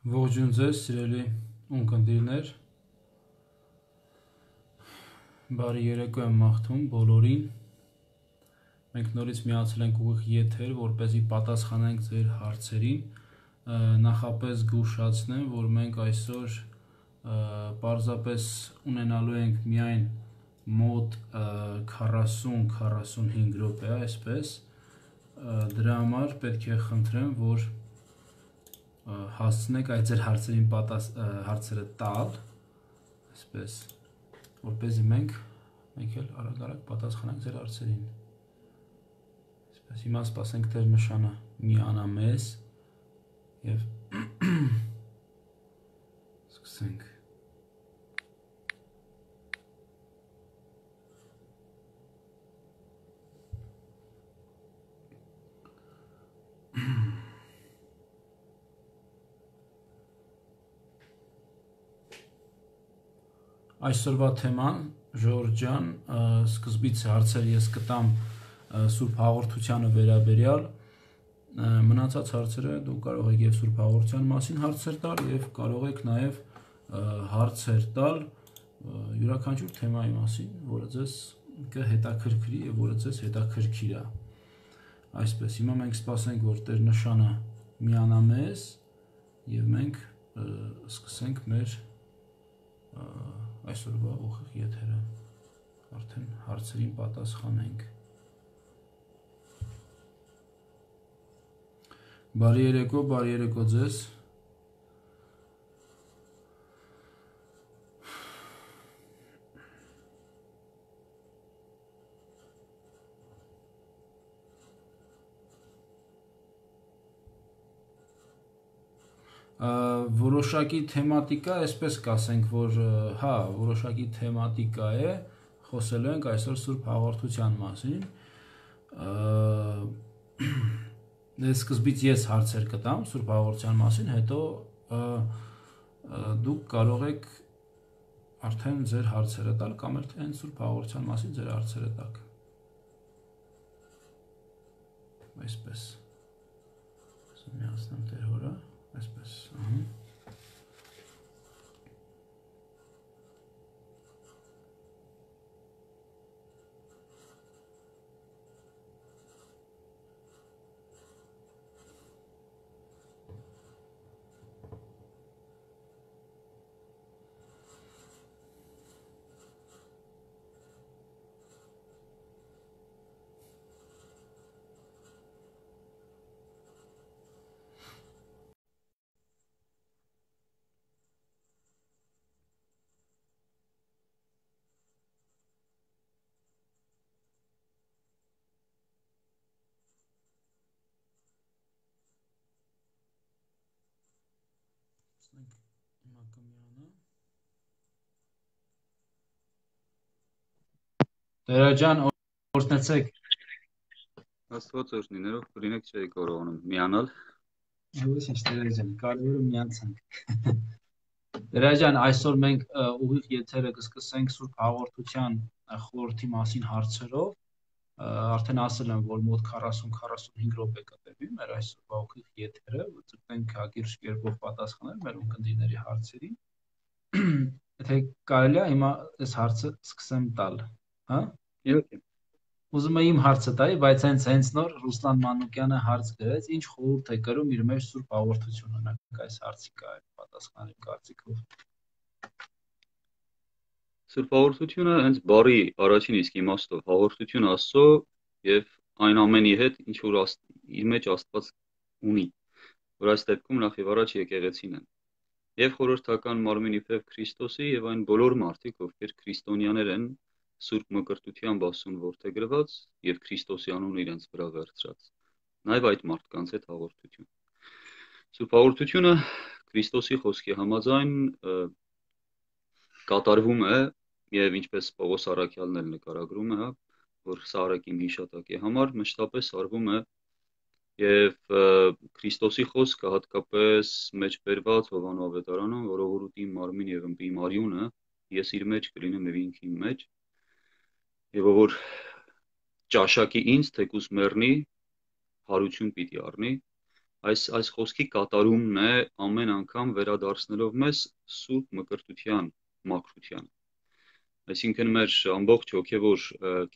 Ողջույն ձեզ, սիրելի ունկնդիրներ, բարի երեկո եմ մաղթում բոլորին, մենք նորից միացել ենք ուղիղ եթեր, որպեսզի պատասխանենք ձեր հարցերին, նախապես զգուշացնեմ, որ մենք այսօր պարզապես ունենալու ենք միայն մոտ 40-45 րոպե, այսպես, դրա համար պետք է խնդրեմ, որ հասցնեք այդ ձեր հարցերը տալ, այսպես, որպեսզի մենք էլ արագ պատասխանենք ձեր հարցերին, այսպես, հիմա սպասենք Տեր նշանը միանա մեզ և սկսենք։ Այսօրվա թեման, Ժորժ ջան, սկզբից հարցեր ես կտամ Սուրբ հաղորդությանը վերաբերյալ, մնացած հարցերը դուք կարող եք և Սուրբ հաղորդության մասին հարցեր տալ և կարող եք նաև հարցեր տալ յուրաքանչյուր թեմայի մասին, որը ձեզ կհետաքրքրի և որը ձեզ հետաքրքիր է։ Այսպես, հիմա մենք սպասենք, որ Տեր նշանը միանա մեզ և մենք սկսենք մեր այսօրվա ուղիղ եթերը, արդեն հարցերին պատասխանենք։ Բարի երեկո ձեզ։ Որոշակի թեմատիկա, այսպես կասենք, որ հա, որոշակի թեմատիկա է, խոսելու ենք այսօր Սուրբ հաղորդության մասին։ Սկզբից ես հարցեր կտամ Սուրբ հաղորդության մասին, հետո դուք կարող եք արդեն ձեր հարցերը տալ կամ էլ այն Սուրբ հաղորդության մասին ձեր հարցերը տաք։ Այսպես։ Միացնեմ Տեր հորը, այսպես, հիմա կմիանա։ Տերաջան, օրհնեցեք։ Աստված օրհնի, ներող կլինեք չէի կարողանում միանալ։ Ոչինչ, Տերաջան, կարևորը միանցանք։ Տերաջան, այսօր մենք ուղիղ եթերը կսկսենք Սուրբ հաղորդության խորհրդի մասին հարցերով։ Արդեն ասել եմ, որ մոտ 40-45 րոպե կտևի մեր այսօրվա ուղիղ եթերը, ցույցենք հակիրճ կերպով պատասխանել մեր ունկնդիրների հարցերին։ Եթե կարելի է, հիմա այս հարցը սկսեմ տալ, հա։ Իհարկե։ Ուզում եմ իմ հարցը տայի, բայց հենց նոր Ռուսլան Մանուկյանը հարց գրեց, ինչ խորհուրդ է կրում իր մեջ Սուրբ հաղորդությունը, նույնիսկ այս հարցի պատասխանել կարծիքով։ Սուրբ հաղորդությունը հենց բարի առաջին իսկ իմաստով հաղորդություն Աստծո եւ այն ամենի հետ, ինչ որ իր մեջ Աստված ունի, որ այս դեպքում նախ եւ առաջ եկեղեցին են։ Եվ խորհրդական մարմինի փեփ Քրիստոսի եւ այն բոլոր մարդիկ, ովքեր քրիստոնյաներ են, Սուրբ մկրտությամբ Աստծուն որդեգրված եւ Քրիստոսի անունը իրենց վրա վերցրած։ Նաեւ այդ մարդկանց հետ հաղորդություն։ Սուրբ հաղորդությունը Քրիստոսի խոսքի համաձայն կատարվում է եւ ինչպես Պողոս Առաքյալն էլ նկարագրում է, որ սա արեք իմ հիշատակի համար, մշտապես արվում է եւ Քրիստոսի խոսքը հատկապես մեջ բերված Հովանու ավետարանում, որ ողորուտի մարմին եւ ըմբի մարյունը ես իր մեջ կլինեմ եւ ինքն իմ մեջ եւ որ ճաշակի ինձ թեկուս մեռնի հարություն պիտի առնի այս խոսքի կատարումն է ամեն անգամ վերադարձնելով մեզ սուրբ մկրտության մաքրությանը։ Այսինքն մեր ամբողջ հոգևոր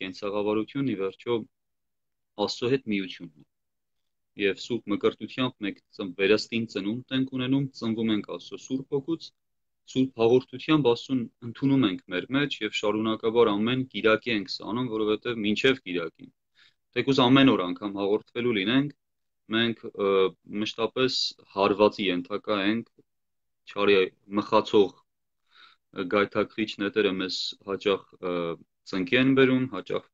կենցաղավարությունն ի վերջո Աստծո հետ միությունն է։ Եվ սուրբ մկրտությամբ մենք վերստին ծնունդ ենք ունենում, ծնվում ենք Աստծո սուրբ հոգուց, սուրբ հաղորդությամբ Աստծուն ընդունում ենք մեր մեջ եւ շարունակաբար ամեն կիրակի ենք սա անում, որովհետեւ մինչեւ կիրակին թեկուզ ամեն օր անգամ հաղորդվելու լինենք, մենք մշտապես հարվածի ենթակա ենք, չարի մխացող գայթակղիչ նետերը մեզ հաճախ ծնկի են բերում, հաճախ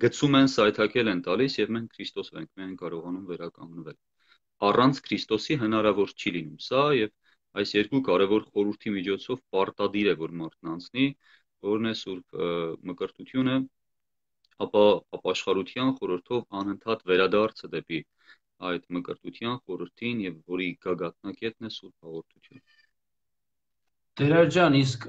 գցում են, սայթաքել են տալիս եւ մենք Քրիստոսով ենք միայն կարողանում վերականգնվել։ Առանց Քրիստոսի հնարավոր չի լինում սա եւ այս երկու կարևոր խորհրդի միջոցով պարտադիր է որ մարդն անցնի, որն է սուրբ մկրտությունը, ապա ապաշխարության խորհրդով անընդհատ վերադարձը դեպի այդ մկրտության խորհրդին եւ որի գագաթնակետն է սուրբ հաղորդությունը։ Տեր ջան, իսկ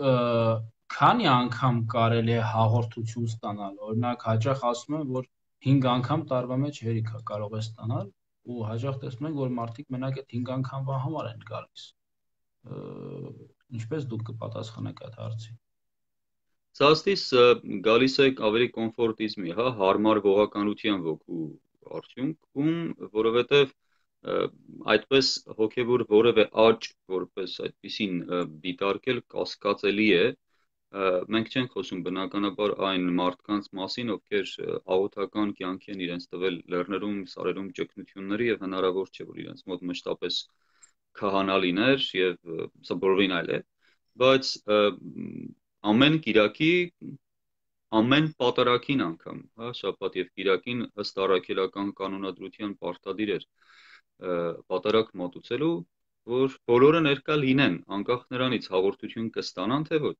քանի անգամ կարելի է հաղորդություն ստանալ, օրինակ հաճախ ասում են, որ 5 անգամ տարվա մեջ հերիք է կարող է ստանալ ու հաճախ տեսնում ենք, որ մարդիկ մենակ այդ 5 անգամվա համար են գալիս։ Ինչպես դուք կպատասխանեք այդ հարցին։ Սաստիս գալիս է ավելի կոմֆորտիզմի, հա, հարմար ողականության ոգու արդյունքում, որովհետև այդպես հոգևոր որևէ աճ, որպես այդպեսին դիտարկել կասկածելի է, մենք չենք խոսում բնականաբար այն մարդկանց մասին, ովքեր աղոթական կյանքի են իրենց տվել լեռներում, սարերում ճգնությունների եւ հնարավոր չէ, որ իրենց մոտ մշտապես քահանա լիներ եւ սա բոլորին այլ է, բայց ամեն կիրակի ամեն պատարագին անգամ, հա, շաբաթ եւ կիրակին ըստ առաքելական կանոնադրության պարտադիր էր պատարագ մատուցելու, որ բոլորը ներկա լինեն, անկախ նրանից հաղորդություն կստանան թե ոչ։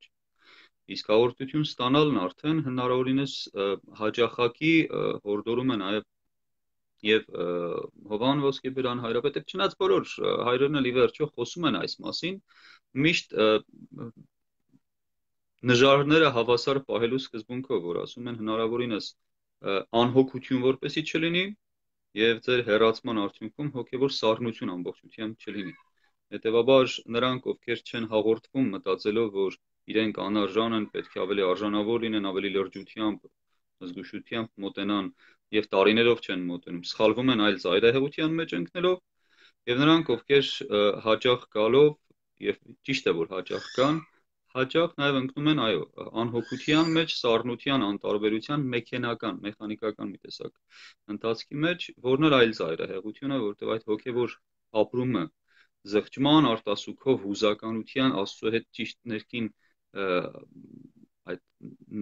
Իսկ հաղորդություն ստանալն արդեն հնարավորինս հաճախակի հորդորում է նաեւ եւ Հովան Ոսկեբերան հայրապետը, չնայած բոլոր հայրերն էլ ի վերջո խոսում են այս մասին, միշտ նժարները հավասար պահելու սկզբունքով, որ ասում են հնարավորինս անհոգություն որպեսի չլինի եւ ձեր հեռացման արդյունքում հոգեվոր սառնություն ամբողջությամբ չլինի։ Հետևաբար նրանք, ովքեր չեն հաղորդվում մտածելով, որ իրենք անարժան են, պետք է ավելի արժանավոր լինեն, ավելի լրջությամբ, զգուշությամբ մոտենան եւ տարիներով չեն մոտենում, սխալվում են այլ ծայրահեղության մեջ ընկնելով եւ նրանք, ովքեր հաճախ գալով եւ ճիշտ է որ հաճախ կան, հաճախ նաեւ ընկնում են, այո, անհոգության մեջ, սառնության, անտարբերության, մեխանիկական մի տեսակ ընթացքի մեջ, որն էլ այլ ծայրահեղություն է, որտեղ այդ հոգեվոր ապրումը զղջման, արտասուքով, հուզականության, Աստծո հետ ճիշտ ներքին այդ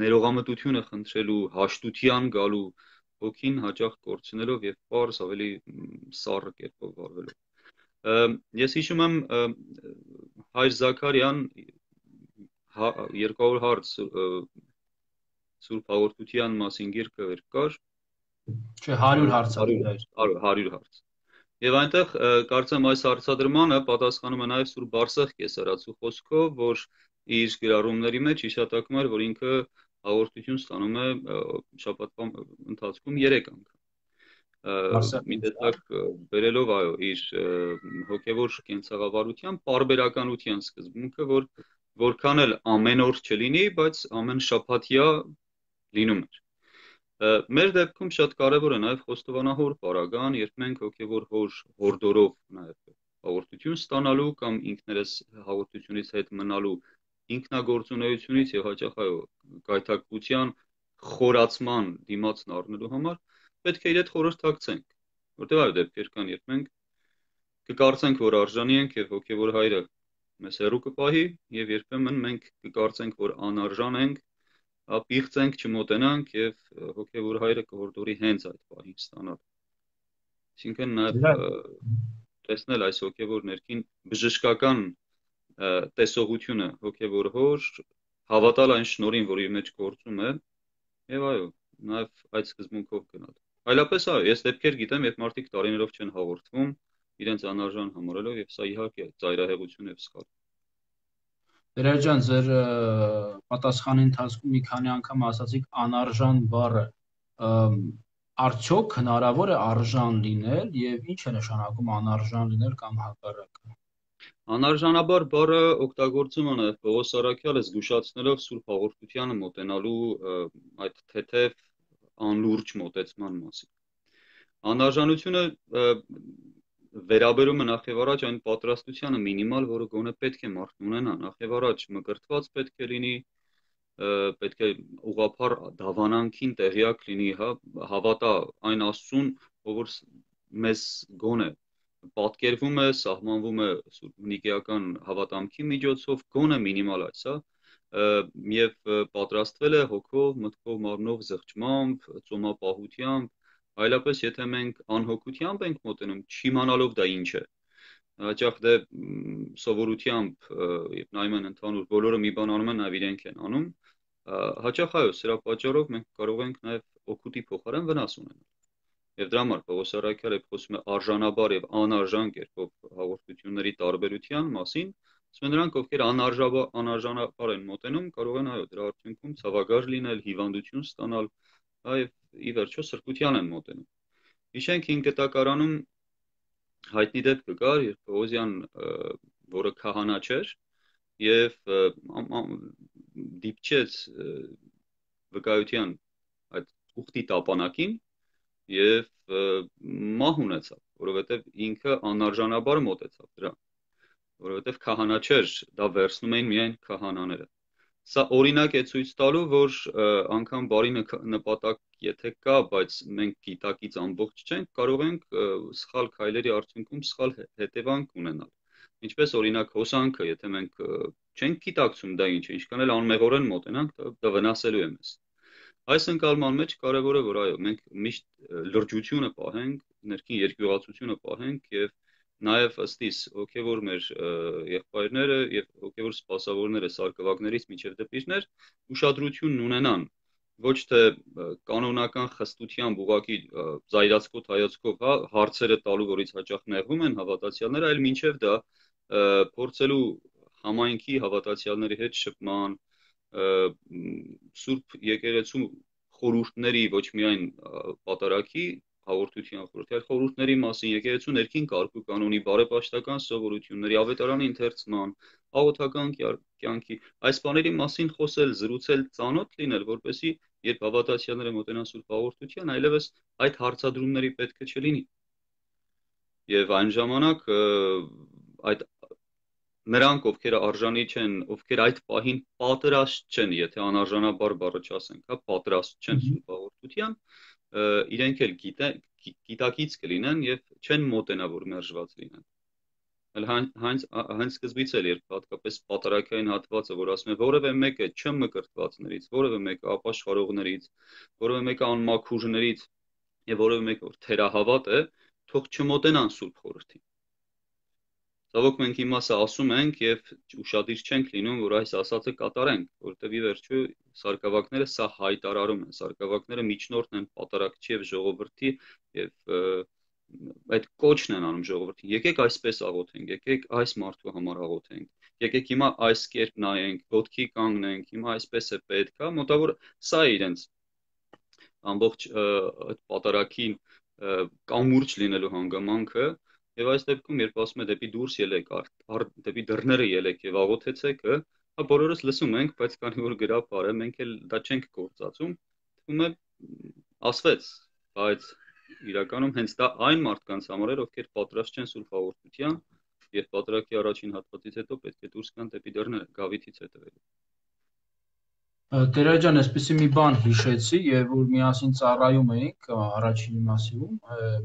ներողամտությունը խնդրելու, հաշտության գալու հոգին հաճախ կորցնելով եւ պարզ ավելի սառը կերպով վարվելով։ Ես հիշում եմ հայր Զաքարյան 200 հարց Սուրբ հաղորդության մասին գիրքը վեր կար, չէ 100 հարց 100 հարց։ Եվ այնտեղ կարծեմ այս հարցադրմանը պատասխանում է նաև Սուրբ Բարսեղ կեսարացու խոսքով, որ իր գրառումների մեջ հիշատակում էր, որ ինքը հաղորդություն ստանում է շաբաթվա ընթացքում 3 անգամ։ Մի տեսակ բերելով այո իր հոգևոր կենցաղավարության պարբերականության սկզբունքը, որ որքան էլ ամեն օր չլինի, բայց ամեն շաբաթյա լինում էր։ Մեր դեպքում շատ կարևոր է նաև խոստովանահոր պարագան, երբ մենք հոգևոր հոր հորդորով նաև հաղորդություն ստանալու կամ ինքներս հաղորդությունից հետ մնալու ինքնագործունեությունից եւ հաճախ այո գայթակղության խորացման դիմացն առնելու համար պետք է իր հետ խորհրդակցենք, որտեղ այո դեպքեր կան, երբ մենք կկարծենք, որ արժանի ենք եւ հոգևոր հայրը մեզ հեռու կպահի եւ երբեմն մենք կկարծենք, որ անարժան ենք, ապիղծենք, չմոտենանք եւ հոգեվոր հայրը կհորդորի հենց այդ պահին ստանալ։ Այսինքն նաեւ տեսնել այս հոգեվոր ներքին բժշկական տեսողությունը հոգեվոր հոր, հավատալ այն շնորհին, որ իր մեջ գործում է, եւ այո, նաեւ այդ սկզբունքով գնալ։ Այլապես այո, ես դեպքեր գիտեմ, երբ մարդիկ տարիներով չեն հաղորդվում, իրենց անարժան համարելով եւ սա իհարկե ծայրահեղություն եւ սխալ։ Տեր ջան, ձեր պատասխանի ընթացքում մի քանի անգամ ասացիք անարժան բառը։ Արդյոք հնարավոր է արժան լինել եւ ինչ է նշանակում անարժան լինել կամ հակառակը։ Անարժանաբար բառը օգտագործում է նաև Պողոս Առաքյալը զգուշացնելով Սուրբ Հաղորդությանը մոտենալու այդ թեթև անլուրջ մոտեցման մասին։ Անարժանությունը վերաբերում է նախ եւ առաջ այն պատրաստությանը մինիմալ, որը գոնե պետք է մարդն ունենա, նախ եւ առաջ մկրտված պետք է լինի, պետք է ուղղափառ դավանանքին տեղյակ լինի, հավատա այն Աստծուն, ով որ մեզ գոնե պատկերվում է, սահմանվում է նիկեական հավատամքի միջոցով, գոնե մինիմալ այս, եւ պատրաստվել է հոգով, մտքով, մարմնով, զղջմամբ, ծոմապահությամբ, այլապես եթե մենք անհոգությամբ ենք մոտենում, չիմանալով դա ինչ է, հաճախ դե սովորությամբ եւ նայում են ընդհանուր բոլորը մի բան անում են, նաեւ իրենք են անում, հաճախ այո, սրա պատճառով մենք կարող ենք նաեւ օգուտի փոխարեն վնաս ունենալ։ Եվ դրա համար Պողոս Առաքյալը խոսում է արժանաբար եւ անարժան կերպով հաղորդությունների տարբերության մասին, ասում են նրանք, ովքեր անարժանաբար են մոտենում, կարող են այո, դրա արդյունքում ցավագար լինել, հիվանդություն ստանալ, այ ի վերջո սրբության են մոտենում։ Հիշենք 5 կտակարանում հայտնի դեպքը կար, երբ Պողոսյան, որը քահանա չէր, եւ դիպչեց վկայության այդ ուխտի տապանակին եւ մահ ունեցավ, որովհետեւ ինքը անարժանաբար մոտեցավ դրան, որովհետեւ քահանա չէր, դա վերցնում էին միայն քահանաները։ Սա օրինակ է ցույց տալու, որ անգամ բարի նպատակ եթե կա, բայց մենք գիտակից ամբողջ չենք, կարող ենք սխալ քայլերի արդյունքում սխալ հետևանք ունենալ։ Ինչպես օրինակ հոսանքը, եթե մենք չենք գիտակցում դա ինչ է, ինչքան էլ անմեղորեն մոտենանք, դա վնասելու է մեզ։ Այս ընկալման մեջ կարևոր է, որ այո, մենք միշտ լրջությունը պահենք, ներքին երկյուղացությունը պահենք եւ նաև ըստիս հոգևոր մեր եղբայրները եւ հոգևոր սպասավորները սարկվակներից միջև դպիրներ ուշադրությունն ունենան ոչ թե կանոնական խստությամբ ուղակի զայրացկոտ հայացքով հարցերը տալու, որից հաճախ նեղվում են հավատացյալները, այլ մինչև դա փորձելու համայնքի հավատացյալների հետ շփման, Սուրբ եկեղեցու խորհուրդների ոչ միայն պատարագի հաղորդության խորհուրդի, այլ խորհուրդների մասին, եկեղեցու ներքին կարգու կանոնի, բարեպաշտական սովորությունների, ավետարանի ընթերցման, աղոթական կյանքի, այս բաների մասին խոսել, զրուցել, ծանոթ լինել, որպեսզի երբ հավատացյալները մոտենան Սուրբ հաղորդության, այլևս այդ հարցադրումների պետք չլինի։ Եվ այն ժամանակ այդ նրանք, ովքեր արժանի չեն, ովքեր այդ պահին պատրաստ չեն, եթե անարժանաբար բառը չասենք, պատրաստ չեն Սուրբ հաղորդության, իրենք էլ գիտակից կլինեն եւ չեն մոտենա, որ մերժված լինեն։ Հենց սկզբից էլ երբ հատկապես պատարագային հատվածը, որ ասում է որևէ մեկը չմկրտվածներից, որևէ մեկը ապաշխարողներից, որևէ մեկը անմաքուրներից եւ որևէ մեկը որ թերահավատ է, թող չմոտենան Սուրբ խորհրդին։ Ցավոք մենք հիմա սա ասում ենք եւ ուշադիր չենք լինում, որ այս ասածը կատարենք, որովհետեւ ի վերջո սարկավակները սա հայտարարում են, սարկավակները միջնորդն են պատարագչի եւ ժողովրդի եւ այդ կոչն են անում ժողովրդին։ Եկեք այսպես աղոթենք, եկեք այս մարդու համար աղոթենք։ Եկեք հիմա այս կերպ նայենք, ոտքի կանգնենք, հիմա այսպես է պետք, մոտավոր սա է իրենց ամբողջ այդ պատարագին կամուրջ լինելու հանգամանքը։ Եվ այս դեպքում, երբ ասում է դեպի դուրս ելեք, դեպի դռները ելեք եւ աղոթեցեք, բոլորս լսում ենք, բայց քանի որ գրապար է, մենք էլ դա չենք գործածում, թվում է ասվեց, բայց իրականում հենց դա այն մարդկանց համար էր, ովքեր պատրաստ չեն Սուրբ հաղորդության եւ պատարագի առաջին հատվածից հետո պետք է դուրս գան դեպի դռները, գավիթից հետևելու։ Տերա ջան, այսպեսի մի բան հիշեցի, եւ որ միասին ծառայում էինք առաջին մասիվում,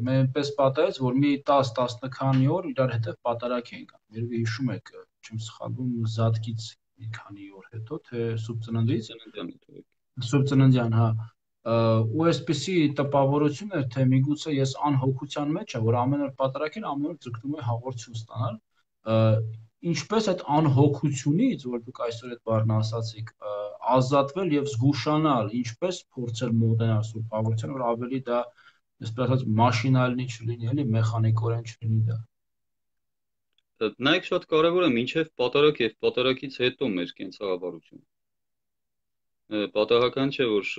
մենք այնպես պատահեց, որ մի 10-10 քանի օր իրար հետ պատարակ էինք անում։ Երևի հիշում եք, չեմ սխալվում, Զատկից մի քանի օր հետո, թե Սուրբ Ծննդից, Սուրբ Ծննդյան, հա։ Ու այսպեսի տպավորություն էր, թե միգուցե ես անհոգության մեջ եմ, որ ամեն օր պատարակին ամեն օր ձգտում եմ հաղորդություն ստանալ։ Ինչպես այդ անհոգությունից, որ դուք այսօր այդ բառն ասացիք, ազատվել եւ զգուշանալ, ինչպես փորձել մոտենալ Սուրբ հաղորդությանը, որ ավելի դա, այսպես ասած, մաշինալնի չլինի, էլի մեխանիկորեն չլինի դա։ Նայեք, շատ կարևոր է մինչև պատարակ եւ պատարակից հետո մեր կենցաղավարությունը։ Պատահական չէ, որ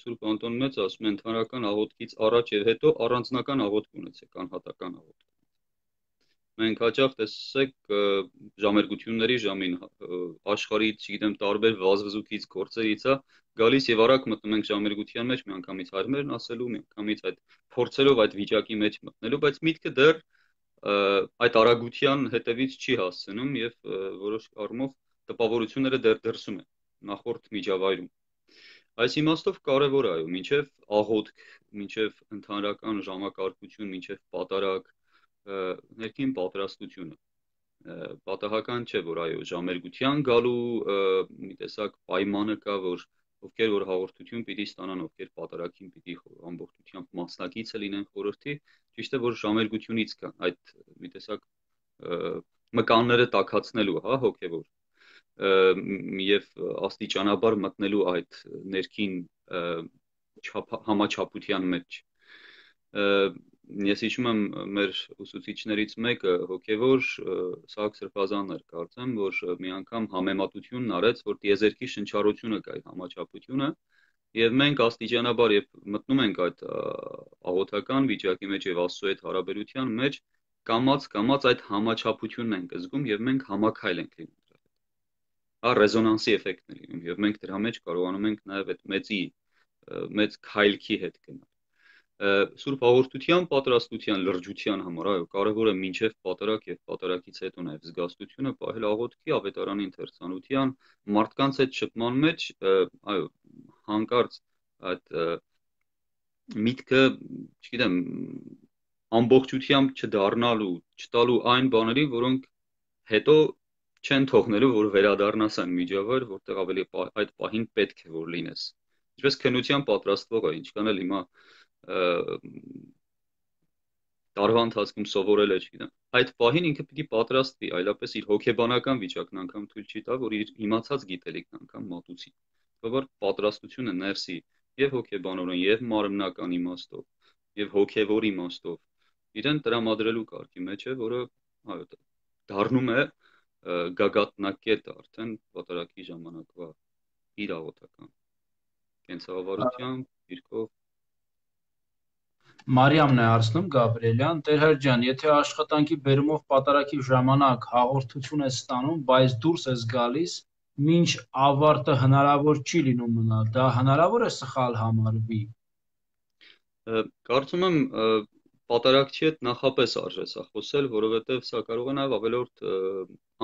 Սուրբ Անտոն Մեծ ասում է ընդհանրական աղոթքից առաջ եւ հետո առանձնական աղոթք ունեցեք, անհատական աղոթք։ Մենք հաճախ տեսեք ժամերգությունների ժամին աշխարհից, չգիտեմ, տարբեր վազվզուկից, գործերից է գալիս եւ արագ մտնում ենք ժամերգության մեջ, միանգամից հարմերն ասելու, միանգամից այդ փորձելով այդ վիճակի մեջ մտնելու, բայց միտքը դեռ այդ արագության հետևից չի հասցնում եւ որոշ առումով տպավորությունները դեռ դրսում են նախորդ միջավայրում։ Այս իմաստով կարևոր է, այո, մինչև աղոթք, մինչև ընդհանրական ժամակարգություն, մինչև պատարագ, ներքին պատրաստությունը։ Պատահական չէ, որ այո, ժամերգության գալու մի տեսակ պայմանը կա, որ ովքեր որ հաղորդություն պիտի ստանան, ովքեր պատարագին պիտի ամբողջությամբ մասնակիցը լինեն խորհրդի, ճիշտ է, որ ժամերգությունից կան այդ մի տեսակ մկանները տաքացնելու, հա, հոգևոր եւ աստիճանաբար մտնելու այդ ներքին համաչափության մեջ։ Ես հիշում եմ մեր ուսուցիչներից մեկը հոգևոր Սահակ Սրբազանն էր, կարծեմ, որ մի անգամ համեմատությունն արեց, որ տիեզերքի շնչառությունը կա համաչափությունը եւ մենք աստիճանաբար եւ մտնում ենք այդ աղոթական վիճակի մեջ եւ Աստծո հետ հարաբերության մեջ կամած այդ համաչափությունն ենք զգում եւ մենք համակայլ ենք լինում։ Ռեզոնանսի էֆեկտն է լինում եւ մենք դրա մեջ կարողանում ենք նաեւ այդ մեծ քայլքի հետ գնալ։ Սուրբ հաղորդության պատրաստության լրջության համար այո կարևոր է մինչեւ պատարագ եւ պատարագից հետո նաեւ զգաստությունը պահել աղոթքի ավետարանի ընթերցանության մարդկանց հետ շփման մեջ այո հանկարծ այդ միտքը չգիտեմ ամբողջությամբ չդառնալու չտալու այն բաների որոնք հետո չեն թողնելու, որ վերադառնաս այն միջավայր, որտեղ ավելի այդ պահին պետք է որ լինես։ Ինչպես քննության պատրաստվողը, ինչքան էլ հիմա տարվա ընթացքում սովորել է, չգիտեմ, այդ պահին ինքը պիտի պատրաստվի, այլապես իր հոգեբանական վիճակն անգամ թույլ չի տա, որ իր իմացած գիտելիքն անգամ մատուցի։ Բավարար պատրաստությունը ներսի եւ հոգեբանորեն եւ մարմնական իմաստով եւ հոգեվոր իմաստով իրեն տրամադրելու կարգի մեջ է, որը այո դառնում է գագաթնակետը արդեն պատարագի ժամանակվա իր աղոթական կենցաղավարությամբ, դիրքով Մարիամն է հարցնում Գաբրիելյան, Տեր ջան, եթե աշխատանքի բերումով պատարագի ժամանակ հաղորդություն ես ստանում, բայց դուրս ես գալիս, մինչ ավարտը հնարավոր չի լինում մնալ, դա հնարավոր է սխալ համարվի։ Կարծում եմ պատարագչի հետ նախապես արժե սա խոսել, որովհետև սա կարող է նաև ավելորդ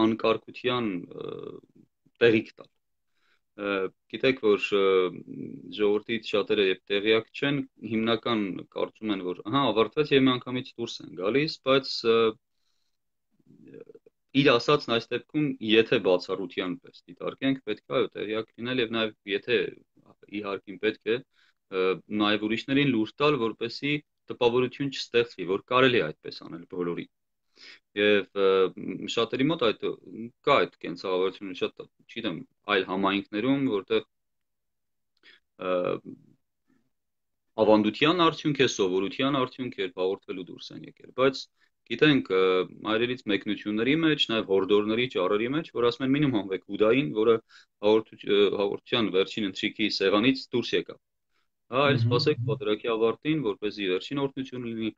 անկարգության տեղիք տալ։ Գիտեք, որ ժողովրդից շատերը երբ տեղյակ չեն, հիմնական կարծում են, որ ավարտվեց եւ միանգամից դուրս են գալիս, բայց իր ասածն այս դեպքում, եթե բացառության պես դիտարկենք, պետք է այո տեղյակ լինել եւ նաեւ եթե իհարկե պետք է նաեւ ուրիշներին լուր տալ, որպեսզի տպավորություն չստեղծվի, որ կարելի է այդպես անել բոլորի։ Եվ շատերի մոտ այդ կա այդ կենցաղավարությունը շատ, չգիտեմ, այլ համայնքներում, որտեղ ավանդության արդյունք է, սովորության արդյունք է, հաղորդվելու դուրս են եկել, բայց գիտենք այրերից մեկնությունների մեջ, նաև հորդորների ճառերի մեջ, որ ասում են մինիմում հանվեք Հուդային, որը հաղորդության վերջին ընթրիքի սեղանից դուրս եկավ։ Այլ սպասեք պատարագի ավարտին, որպեսզի վերջին օրհնություն լինի,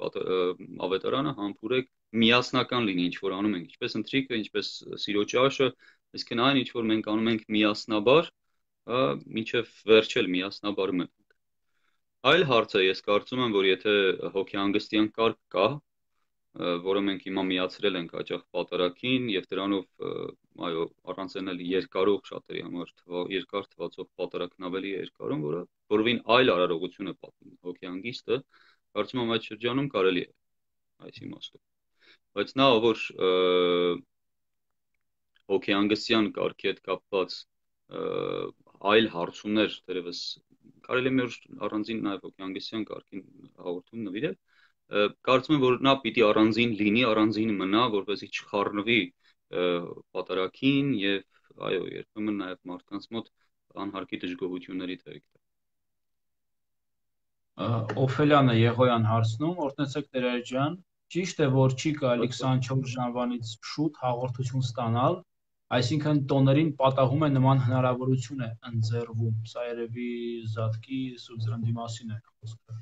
ավետարանը համբուրեք միասնական լինի, ինչ որ անում ենք, ինչպես ընթրիքը, ինչպես սիրո ճաշը, այսինքն այն ինչ որ մենք անում ենք միասնաբար, մինչև վերջել միասնաբար մնանք։ Այլ հարց է, ես կարծում եմ, որ եթե հոգեհանգստյան կարգ կա, որը մենք հիմա միացրել ենք հաճախ պատարագին եւ դրանով այո առանց էլ երկարող շատերի համար երկար թվացող պատարագն ավելի երկարում, որը որովին այլ արարողություն է պատմում հոգեհանգիստը, կարծում եմ այդ շրջանում կարելի է այս իմաստով։ Բայց նա որ հոգեհանգստյան կարգի հետ կապված այլ հարցումներ դերևս կարելի է մեր առանձին նաև հոգեհանգստյան կարգին հաղորդում նվիրել, կարծում եմ, որ նա պիտի առանձին լինի, առանձին մնա, որպեսզի չխառնվի պատարագին եւ այո, երբեմն նաև մարդկանց մոտ անհարկի դժգոհությունների տեղիք տա։ Օֆելյանը Եղոյան հարցնում, օրհնեցեք Տեր ջան, ճիշտ է, որ չի կարելի 24 ժամվանից շուտ հաղորդություն ստանալ, Այսինքն տոներին պատահում է նման հնարավորություն է ընձեռվում։ Սա երևի Զատկի Սուրբ Ծննդի մասին է խոսքը։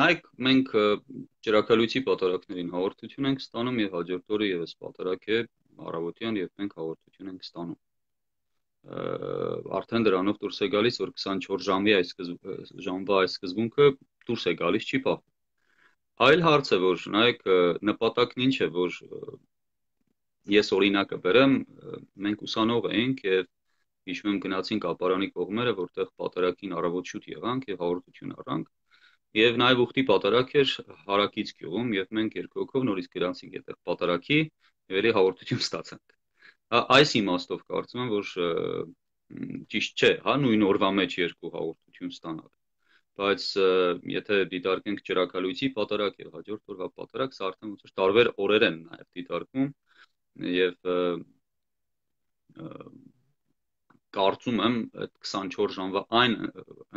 Նայեք, մենք ճրագալույցի պատարակներին հաղորդություն ենք ստանում եւ հաջորդ օրը եւս պատարակ է առավոտյան եւ մենք հաղորդություն ենք ստանում։ Արդեն դրանով դուրս է գալիս, որ 24 ժամվա այս սկզբունքը դուրս է գալիս, չի փոխվում։ Այլ հարց է, որ նայեք, նպատակն ինչ է, որ ես օրինակը բերեմ, մենք ուսանող էինք եւ հիշում եմ գնացինք ապարանի կողմերը, որտեղ պատարակին առավոտ շուտ եղանք եւ հաղորդություն առանք։ Եվ նաև ուխտի պատարակ էր հարակից գյուղում եւ մենք երկու հոգով նորից գրանցինք այդտեղ պատարակի եւ էլի հաղորդություն ստացանք։ Այս իմաստով կարծում եմ, որ ճիշտ չէ, հա, նույն օրվա մեջ երկու հաղորդություն ստանալ։ Բայց եթե դիտարկենք ճրագալույցի պատարակ եւ հաջորդ օրվա պատարակ, սա արդեն ոնց որ տարբեր օրեր են նաև դիտարկվում եւ կարծում եմ այդ 24 ժամվա այն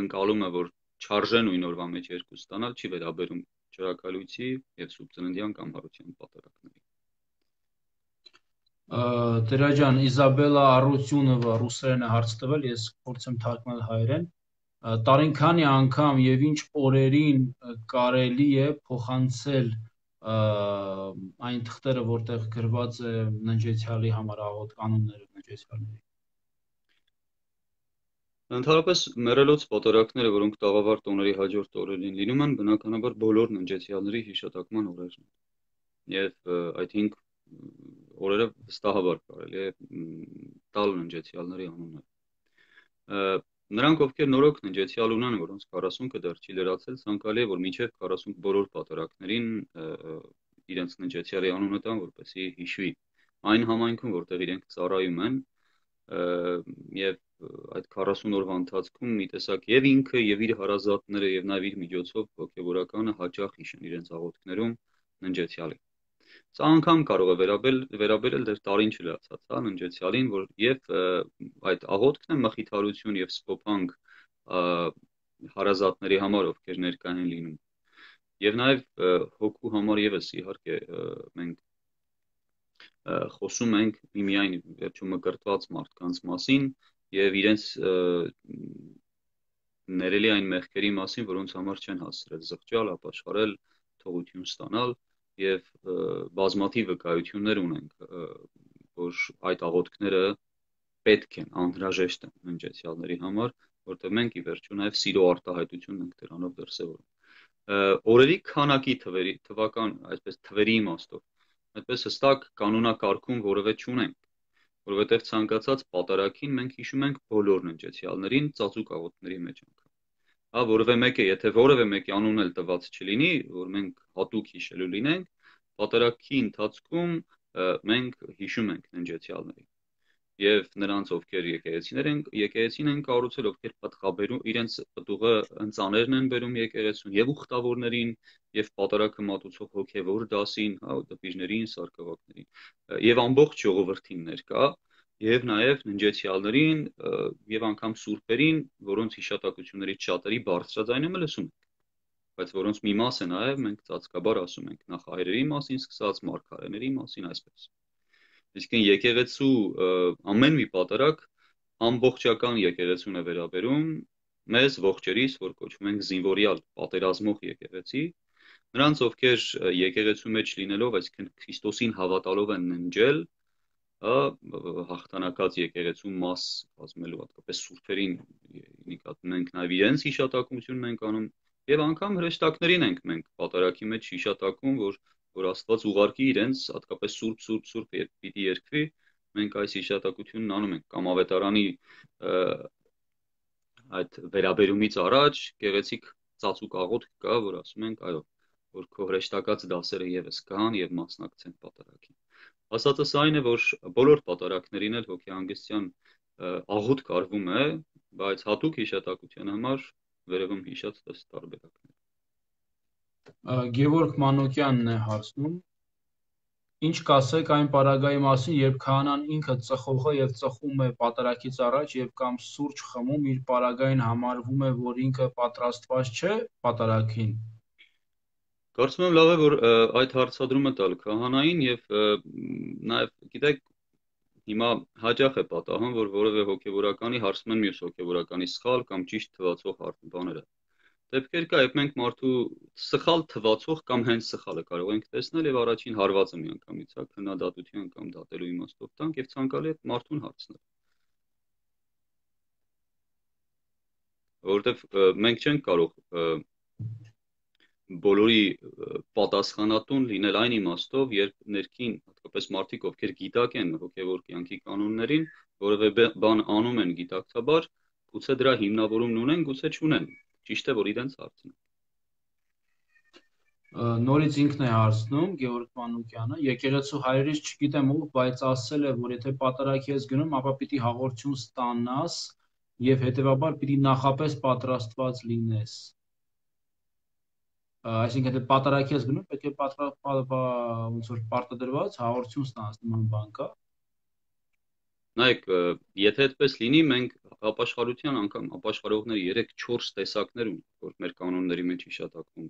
ընկալումը, որ չարժե նույն օրվա մեջ երկու ստանալ, չի վերաբերում ճրագալույցի եւ Սուրբ Ծննդյան կամ Հարության պատարակների։ Տերա ջան, Իզաբելա Արությունովը ռուսերեն է հարց տվել, ես փորձեմ թարգմանել հայերեն։ Տարինքանի անգամ եւ ինչ օրերին կարելի է փոխանցել այն թղթերը, որտեղ գրված է ննջեցյալի համար աղոտ կանոնները ննջեցյալների։ Ընդհանրապես մեռելոց պատարակները, որոնք տաղավար տոների հաջորդ օրերին լինում են, բնականաբար բոլոր ննջեցյալների հիշատակման օրերն են։ Եվ այդ 5 օրերը վստահաբար կարելի է տալ ննջեցյալների անունները։ Նրանք, ովքեր նորոգ ննջեցյալ ունեն, որոնց 40-ը դեռ չի լրացել, ցանկալի է, որ մինչև 40 բոլոր պատարակներին իրենց ննջեցյալի անունը տան, որպեսզի հիշվի այն համայնքում, որտեղ իրենք ծառայում են, եւ այդ 40 օրվա ընթացքում մի տեսակ եւ ինքը եւ իր հարազատները եւ նաեւ իր միջոցով հոգեվորականը հաճախ հիշեն իրենց աղոթքներում ննջեցյալի։ Սա անգամ կարող է վերաբերել դեռ տարին չլացած, հա, ննջեցյալին, որ եւ այդ աղոթքն է մխիթարություն եւ սփոփանք հարազատների համար, ովքեր ներկա են լինում։ Եվ նաեւ հոգու համար եւս իհարկե մենք խոսում ենք միայն վերջում մկրտված մարդկանց մասին եւ իրենց ներելի այն մեղքերի մասին, որոնց համար չեն հասցրել զղջալ, ապաշխարել, թողություն ստանալ եւ բազմաթիվ վկայություններ ունենք, որ այդ աղոթքները պետք են, անհրաժեշտ են ննջեցյալների համար, որտեղ մենք ի վերջո նաեւ սիրո արտահայտությունն ենք դրանով դրսևորում։ Օրերի քանակի թվական, այսպես թվերի իմաստով, այդպես հստակ կանոնակարգում որևէ չունենք, որովհետեւ ցանկացած պատարակին մենք հիշում ենք բոլոր ննջեցյալներին ծածուկ աղոթքների մեջ անգամ։ Հա, որևէ մեկը, եթե որևէ մեկի անունն էլ տված չլինի, որ մենք հատուկ հիշելու լինենք, պատարակի ընթացքում մենք հիշում ենք ննջեցյալներին եւ նրանց, ովքեր եկեղեցին են կառուցել, ովքեր պատղաբերում իրենց պտուղը ընծաներն են բերում եկեղեցուն եւ ուխտավորներին եւ պատարակը մատուցող հոգեվոր դասին, հա, դպիժներին, սարկավակներին եւ ամբողջ ժողովրդին ներկա եւ նաեւ ննջեցյալներին եւ անգամ սուրբերին, որոնց հիշատակություններից շատերի բարձրաձայնումը լսում ենք, բայց որոնց մի մասը նաեւ մենք ծածկաբար ասում ենք նախահայրերի մասին սկսած, մարգարեների մասին, այսպես։ Իսկ եկեղեցու ամեն մի պատարակ ամբողջական եկեղեցուն է վերաբերում մեզ ողջերիս, որ կոչվում ենք զինվորյալ պատերազմող եկեղեցի, նրանց, ովքեր եկեղեցու մեջ լինելով, այսինքն Քրիստոսին հավատալով են ննջել, հաղթանակած եկեղեցու մաս կազմելու, հատկապես սուրբերին նկատում ենք նաև իրենց հիշատակությունն ենք անում եւ անգամ հրեշտակներին ենք մենք պատարակի մեջ հիշատակում, որ Աստված ուղարկի իրենց, հատկապես սուրբ երբ պիտի երկվի, մենք այս հիշատակությունն անում ենք կամ ավետարանի այդ վերաբերումից առաջ գեղեցիկ ծածուկ աղոթք կա, որ ասում ենք, այո, որ քո հրեշտակած դասերը եւս կան եւ մասնակցեն պատարակին։ Ասածս այն է, որ բոլոր պատարակներին էլ հոգեհանգստյան աղոթք արվում է, բայց հատուկ հիշատակության համար վերևում հիշած տարբերակներ։ Գևորգ Մանուկյանն է հարցնում. Ինչ կասեք այն պարագայի մասին, երբ քահանան ինքը ծխողը եւ ծխում է պատարակից առաջ եւ կամ սուրճ խմում, իր պարագային համարվում է, որ ինքը պատրաստված չէ պատարակին։ Կարծում եմ լավ է, որ այդ հարցադրումը տալ քահանային եւ նաեւ գիտեք, հիմա հաճախ է պատահում, որ որևէ հոգևորականի հարցում են մյուս հոգևորականի սխալ կամ ճիշտ թվացող բաները։ Դեպքեր կա, երբ մենք մարդու սխալ թվացող կամ հենց սխալը կարող ենք տեսնել եւ առաջին հարվածը միանգամից, հա, քննադատության կամ դատելու իմաստով տանք եւ ցանկալի է մարդուն հարցնել։ Որովհետեւ մենք չենք կարող բոլորի պատասխանատուն լինել այն իմաստով, երբ ներքին, հատկապես մարդիկ, ովքեր գիտակ են հոգևոր կյանքի կանոններին, որևէ բան անում են գիտակցաբար, գուցե դրա հիմնավորումն ունեն, գուցե չունեն։ Ճիշտ է, որ իրենց հարցն է։ Նորից ինքն է հարցնում Գեորգ Մանուկյանը, եկեղեցու հայրից չգիտեմ ով, բայց ասել է, որ եթե պատարագի ես գնում, ապա պիտի հաղորդություն ստանաս եւ հետեւաբար պիտի նախապես պատրաստված լինես։ Այսինքն եթե պատարագի ես գնում, պետք է ոնց որ պարտադրված հաղորդություն ստանաս, նման բան կա։ Նայեք, եթե այդպես լինի, մենք ապաշխարության անգամ ապաշխարողների 3-4 տեսակներ ունենք, որ մեր կանոնների մեջ հիշատակվում են,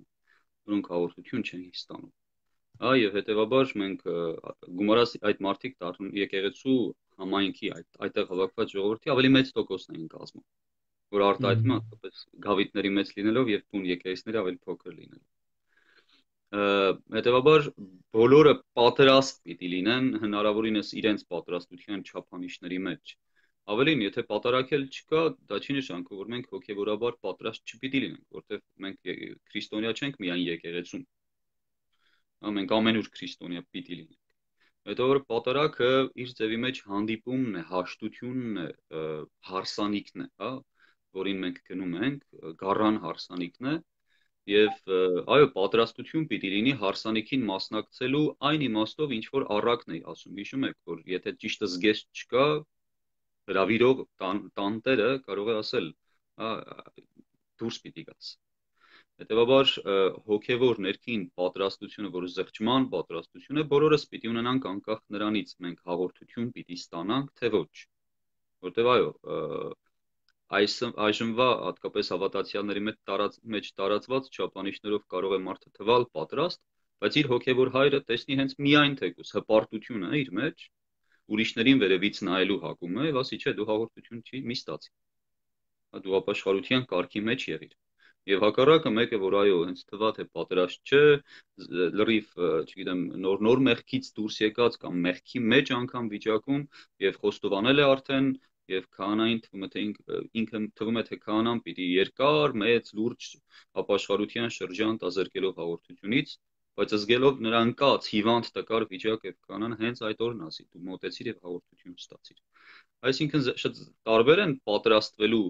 որոնք հաղորդություն չեն ստանում։ Եվ հետեւաբար մենք գումարած այդ մարդիկ դառնում եկեղեցու համայնքի այդտեղ հավաքված ժողովրդի ավելի մեծ տոկոսն են կազմում, որ արտահայտվում է հատկապես գավիթների մեծ լինելով եւ տուն եկեղեցիների ավելի փոքր լինելով։ Հետեւաբար բոլորը պատրաստ պիտի լինեն հնարավորինս իրենց պատրաստության չափանիշների մեջ։ Ավելին, եթե պատարակել չկա, դա չի նշանակում, որ մենք հոգեվորաբար պատրաստ չպիտի լինենք, որտեղ մենք քրիստոնյա չենք միայն եկեղեցում։ Մենք ամենուր քրիստոնյա պիտի լինենք։ Հետո պատարակը իր ձևի մեջ հանդիպումն է, հաշտությունն է, հարսանիքն է, հա, որին մենք գնում ենք, գառան հարսանիքն է, եւ այո, պատրաստություն պիտի լինի հարսանիքին մասնակցելու այն իմաստով, ինչ որ առակն է ասում։ Հիշում եք, որ եթե ճիշտը զգեստ չկա, հրավիրող տանտերը կարող է ասել, դուրս պիտի գաս։ Հետևաբար հոգևոր ներքին պատրաստությունը, որը զղջման պատրաստություն է, բոլորս պիտի ունենանք անկախ նրանից մենք հաղորդություն պիտի ստանանք, թե ոչ։ Որտեւ այո, այժմվա հատկապես հավատացյալների մեջ տարածված չափանիշներով կարող է մարդը թվալ պատրաստ, բայց իր հոգևոր հայրը տեսնի հենց միայն թեկուզ հպարտությունը իր մեջ, ուրիշներին վերևից նայելու հակումը եւ ասի, չէ, դու հաղորդություն չի մի ստացի։ Դու ապաշխարության կարգի մեջ եղիր։ Եվ հակառակը մեկը, որ այո, հենց թվա թե պատրաստ չէ, լրիվ, չգիտեմ, նոր մեղքից դուրս եկած կամ մեղքի մեջ անգամ վիճակում եւ խոստովանել է արդեն եւ քահանային ինքը թվում է թե քահանան պիտի երկար, մեծ, լուրջ ապաշխարության շրջան տազերկելով հաղորդությունից, բայց զգելով նրա անկած հիվանդ տկար վիճակ եւ քահանան հենց այդ օրն ասի, դու մոտեցիր եւ հաղորդություն ստացիր։ Այսինքն շատ տարբեր են պատրաստվելու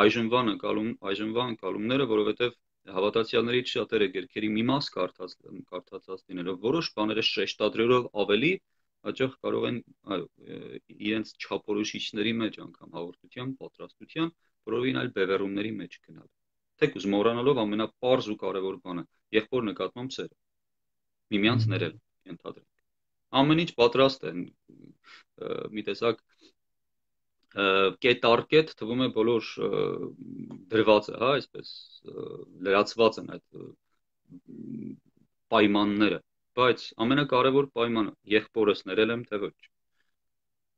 այժմվա ընկալումները, որովհետեւ հավատացյալներից շատերը գրքերի մի մաս կարդացած լինելով որոշ բաները շեշտադրելով ավելի հաճախ կարող են իրենց չափորոշիչների մեջ անգամ հաղորդության պատրաստության որովին այլ բևեռումների մեջ գնալ։ Թեկուզ մոռանալով ամենապարզ ու կարևոր բանը՝ եղբոր նկատմամբ սերը։ Միմյանց ներել ենթադրենք։ Ամեն ինչ պատրաստ է, մի տեսակ կետարկետ թվում է բոլոր դրված է, հա, այսպես լրացված են այդ պայմանները, բայց ամենակարևոր պայմանը եղբորս ներել եմ թե ոչ։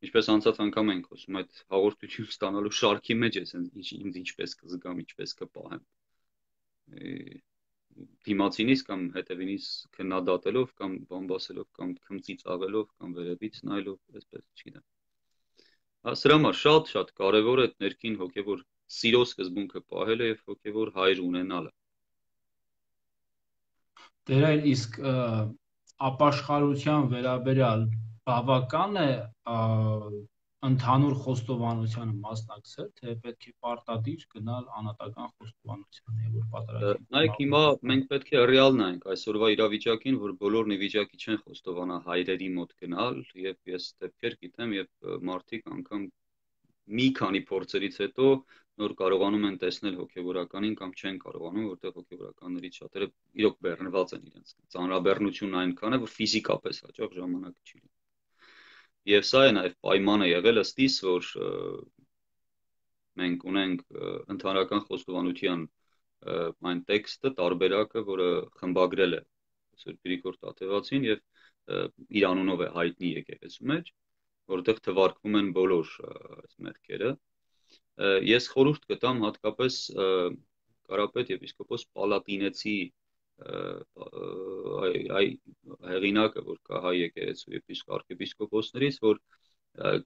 Ինչպես անցած անգամ ենք խոսում, այդ հաղորդություն ստանալու շարքի մեջ ես ինձ ինչպես կզգամ, ինչպես կպահեմ։ Դիմացինից կամ հետևինից քննադատելով կամ բամբասելով կամ քմծիծաղելով կամ վերևից նայելով, այսպես չգիտեմ։ Սրա համար շատ կարևոր է ներքին հոգևոր սիրո սկզբունքը պահելը եւ հոգևոր հայր ունենալը։ Տերայր, իսկ ապաշխարության վերաբերյալ բավական է ընդհանուր խոստովանությանը մասնակցել, թե պետք է պարտադիր գնալ անհատական խոստովանությանը եւ որ պատարագի։ Նայեք, հիմա մենք պետք է ռեալ նայենք այսօրվա իրավիճակին, որ բոլորն ի վիճակի չեն խոստովանա հայրերի մոտ գնալ, եւ ես դեպքեր գիտեմ, եւ մարդիկ անգամ մի քանի փորձերից հետո նոր կարողանում են տեսնել հոգեվորականին կամ չեն կարողանում, որտեղ հոգեվորականներից շատերը իրոք բեռնված են իրենց ծանրաբեռնությունն այնքան է, որ ֆիզիկապես հաճախ ժամանակ չի լինում։ Եվ սա է նաև պայմանը եղել ըստիս, որ մենք ունենք ընդհանրական խոստովանության այն տեքստը, տարբերակը, որը խմբագրել է Սուրբ Գրիգոր Տաթևացին եւ իր անունով է հայտնի եկեղեցու մեջ, որտեղ թվարկվում են բոլոր այս մեղքերը։ Ես խորհուրդ կտամ հատկապես Կարապետ եպիսկոպոս Պալատինեցի հեղինակը, որ կա հայ եկեղեցու arczepiskopոսներից, որ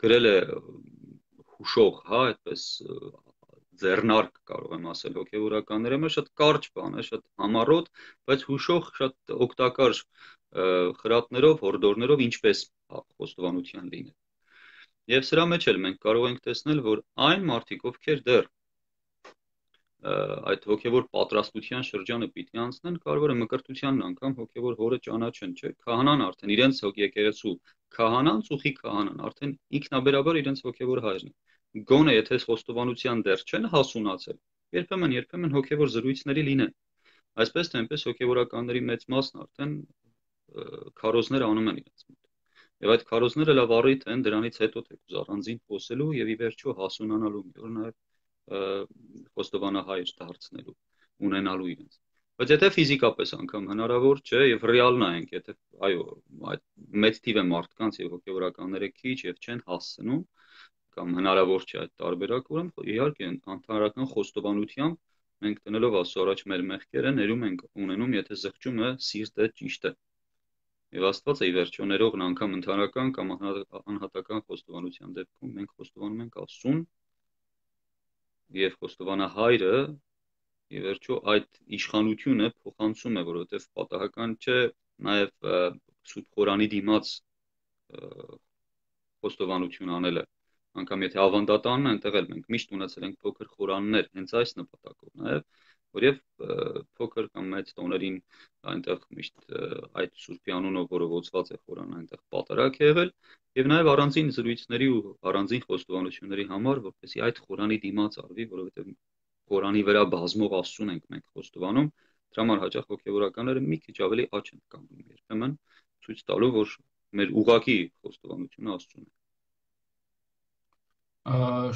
գրել է հուշող, հա, այդպես ձեռնարկ կարող եմ ասել հոգևորականների համար, շատ կարճ բան է, շատ համառոտ, բայց հուշող շատ օգտակար խրատներով, հորդորներով ինչպես խոստովանության լինել։ Եվ սրա մեջ էլ մենք կարող ենք տեսնել, որ այն մարդիկ, ովքեր դեռ այդ հոգևոր պատրաստության շրջանը պիտի անցնեն, կարող է մկրտությանն անգամ հոգևոր հորը ճանաչեն, չէ՞։ Քահանան արդեն իրենց եկեղեցու քահանան, ծուխի քահանան, արդեն ինքնաբերաբար իրենց հոգևոր հայրն է։ Գոնե եթե խոստովանության դեռ չեն հասունացել, երբեմն հոգևոր զրույցների լինեն։ Այսպես թե այնպես հոգևորականների մեծ մասն արդեն քարոզներ անում են իրենց մոտ։ Եվ այդ քարոզները լավ առիթ են դրանից հետո թեկուզ առանձին խոսելու եւ ի վերջո հասունանալու, որ նաեւ խոստովանահայր դարձնելու, ունենալու իրենց։ Բայց եթե ֆիզիկապես անգամ հնարավոր չէ եւ ռեալ նայենք, եթե այո, այդ մեծ թիվը մարդկանց եւ հոգեվորականները քիչ եւ չեն հասցնում, կամ հնարավոր չէ այդ տարբերակը, ուրեմն իհարկե ընդհանրական խոստովանությամբ մենք տնելով Աստծո առաջ մեր մեղքերը ներում ենք ունենում, եթե զղջումը սիրտը ճիշտ է։ Եվ Աստված է ի վերջո ներողն անգամ ընդհանրական կամ անհատական խոստովանության դեպքում մենք խոստովանում ենք Աստծուն եւ խոստովանահայրը ի վերջո այդ իշխանությունը փոխանցում է, որովհետեւ պատահական չէ նաեւ Սուրբ Խորանի դիմաց խոստովանություն անելը, անգամ եթե ավանդատանն է, այնտեղ էլ մենք միշտ ունեցել ենք փոքր խորաններ հենց այս նպատակով նաեւ, որև փոքր կամ մեծ տոներին այնտեղ միշտ այդ Սուրբի անունով որովոցված է խորան այնտեղ պատարակ է եղել եւ նաեւ առանձին զրույցների ու առանձին խոստովանությունների համար, որպեսզի այդ խորանի դիմաց արվի, որովհետեւ խորանի վրա բազմող Աստծուն ենք մենք խոստովանում, դրա համար հաճախ հոգեվորականները մի քիչ ավելի աճ են կանգնում երբեմն ցույց տալու, որ մեր ուղակի խոստովանությունը Աստծուն է։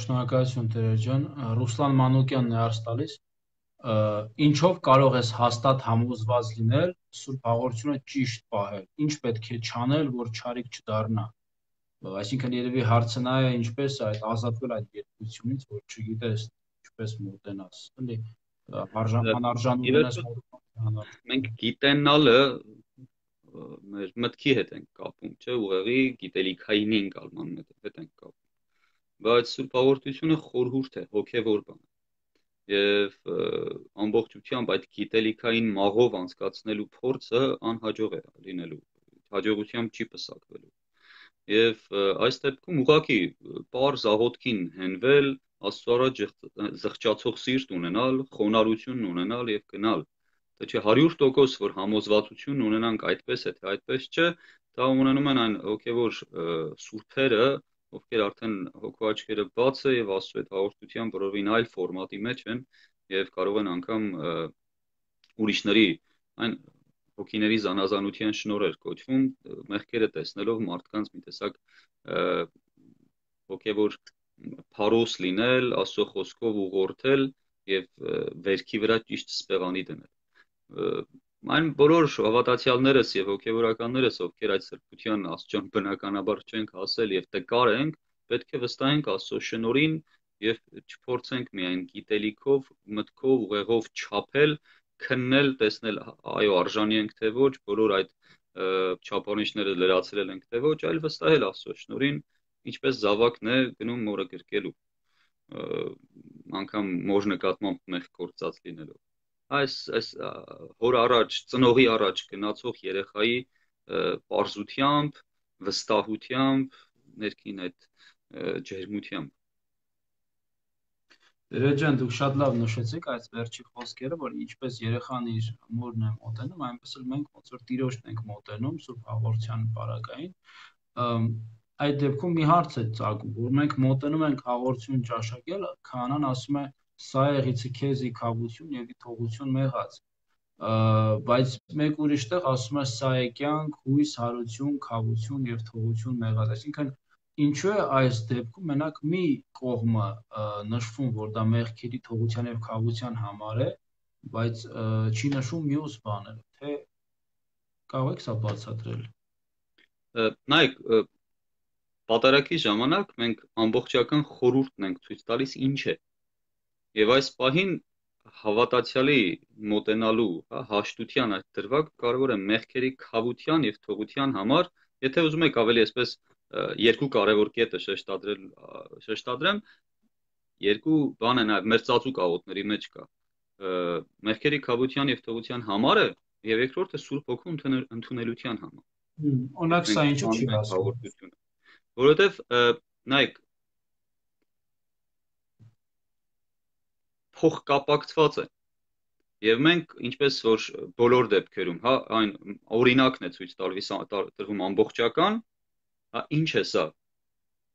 Շնորհակալություն Տեր ջան, Ռուսլան Մանուկյանն է հարց տալիս, ինչով կարող ես հաստատ համոզված լինել Սուրբ Հաղորդությունը ճիշտ պահել, ինչ պետք է չանել, որ չարիք չդառնա։ Այսինքն երևի հարցը նա է, ինչպես այդ ազատվել այդ երկրությունից, որ չգիտես ինչպես մոտենաս, էլի անարժան ունենաս մոտենալ։ Մենք գիտենալը մեր մտքի հետ ենք կապում, չէ՞, ուղեղի գիտելիքային ընկալման հետ ենք կապում։ Բայց Սուրբ Հաղորդությունը խորհուրդ է, հոգևոր բան է։ Եվ ամբողջությամբ այդ գիտելիքային մաղով անցկացնելու փորձը անհաջող է լինելու, հաջողությամբ չի պսակվելու։ Եվ այս դեպքում ուղղակի պարզ աղոթքին հենվել, Աստծո առաջ զղջացող սիրտ ունենալ, խոնարհություն ունենալ եւ գնալ։ Դա չէ 100% որ համոզվածություն ունենանք այդպես է, թե այդպես չէ, դա ունենում են այն հոգևոր սուրբերը, ովքեր արդեն հոգու աչքերը բաց է եւ Աստծո այդ հաղորդության բռովին այլ ֆորմատի մեջ են եւ կարող են անգամ ուրիշների այն հոգիների զանազանության շնորհեր կոչվում, մեղքերը տեսնելով մարդկանց մի տեսակ հոգևոր փարոս լինել, Աստծո խոսքով ուղղորդել եւ վերքի վրա ճիշտ սպեղանի դնել։ Այն բոլոր հավատացյալներս եւ հոգևորականներս, ովքեր այդ սրբության Աստծոն բնականաբար չենք հասել եւ տկար ենք, պետք է վստահենք Աստծո շնորհին եւ չփորձենք միայն գիտելիքով, մտքով, ուղեղով չափել, քննել, տեսնել, այո, արժանի ենք թե ոչ, բոլոր այդ չափանիշները լրացրել ենք թե ոչ, այլ վստահել Աստծո շնորհին, ինչպես զավակն է գնում մորը գրկելու, անգամ մոր նկատմամբ մեղք գործած լինելով։ Այս հոր առաջ, ծնողի առաջ գնացող երեխայի պարզությամբ, վստահությամբ, ներքին այդ ջերմությամբ։ Տեր ջան, դուք շատ լավ նշեցիք այդ վերջի խոսքերը, որ ինչպես երեխան իր մորն է մոտենում, այնպես էլ մենք ոնց որ Տիրոջն ենք մոտենում Սուրբ Հաղորդության պարագային։ Այդ դեպքում մի հարց է ծագում, որ մենք մոտենում ենք հաղորդություն ճաշակել, քահանան ասում է՝ սա եղիցի քեզի քավություն եւ թողություն մեղած։ Բայց մեկ ուրիշ տեղ ասում է՝ սա է կյանք, հույս, հարություն, քավություն եւ թողություն մեղած։ Այսինքն ինչու է այս դեպքում մենակ մի կողմը նշվում, որ դա մեղքերի թողության եւ քավության համար է, բայց չի նշվում մյուս բաները, թե կարող եք սա բացատրել։ Նայեք, Պատարագի ժամանակ մենք ամբողջական խորհուրդն ենք ցույց տալիս ինչ է։ Եվ այս պահին հավատացյալի մոտենալու, հաշտության այդ դրվագ կարևոր է մեղքերի քավության եւ թողության համար, եթե ուզում եք ավելի այսպես երկու կարևոր կետը շեշտադրեմ, երկու բան է նաեւ մեր ծածուկ աղոթների մեջ կա։ Մեղքերի քավության եւ թողության համար է եւ երկրորդը Սուրբ Հոգու ընդունելության համար։ Օրինակ սա ինչու չի հասնում։ Որովհետեւ նայեք փող կապակցված է եւ մենք ինչպես որ բոլոր դեպքերում, հա, այն օրինակն է ցույց տրվում ամբողջական, հա, ինչ է սա,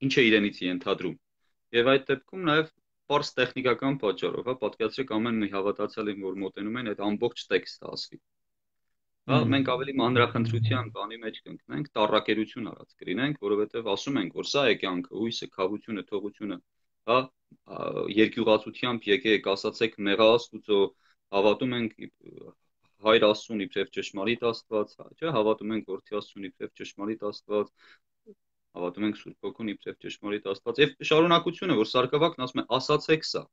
ինչ է իրենից ենթադրում եւ այդ դեպքում նաեւ պարզ տեխնիկական պատճառով, հա, պատկերացրեք ամեն մի հավատացյալին որ մոտենում են այդ ամբողջ տեքստը ասվի, հա, մենք ավելի մանրախնդրության բանի մեջ կընկնենք, տառակերություն արած կլինենք, որովհետեւ ասում ենք որ սա է կյանքը, հույսը, քավությունը, թողությունը, հա, երկյուղացությամբ եկեք, ասացեք մեղա Աստուծո, հավատում ենք Հայր Աստծուն իբրև ճշմարիտ Աստված, չէ, հավատում ենք Որդի Աստծուն իբրև ճշմարիտ Աստված, հավատում ենք Սուրբ Հոգուն իբրև ճշմարիտ Աստված, եւ շարունակությունը, որ Սարգսակն ասում է, ասացեք սա,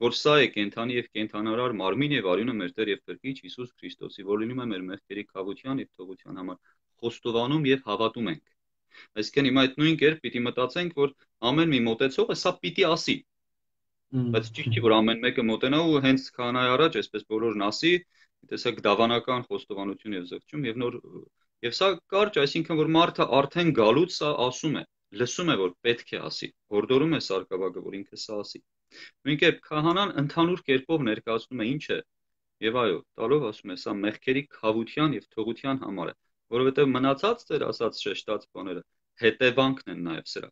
որ սա է կենթանի եւ կենթանարար մարմին եւ արյունը մեր Տեր եւ Փրկիչ Հիսուս Քրիստոսի, որ լինում է մեր մեղքերի քավության եւ թողության համար, խոստովանում եւ հավատում ենք։ Այսինքն հիմա այդ նույն կերպ պիտի մտածենք, որ ամեն մի մոտեցողը սա պիտի ասի։ Բայց ճիշտ չի, որ ամեն մեկը մոտենա ու հենց քահանայի առաջ այսպես բոլորն ասի, տեսակ դավանական խոստովանություն եւ զղջում եւ նոր եւ սա կարճ, այսինքն որ մարդը արդեն գալուց սա ասում է, լսում է որ պետք է ասի, հորդորում է Սարգսակը որ ինքը սա ասի։ Նույն կերպ քահանան ընդհանուր կերպով ներկայացնում է ինչ է եւ այո, տալով ասում է սա մեղքերի քավության եւ թողության համար է, որովհետեւ մնացած ձեր ասած շեշտած բաները հետևանքն են նաեւ սրա։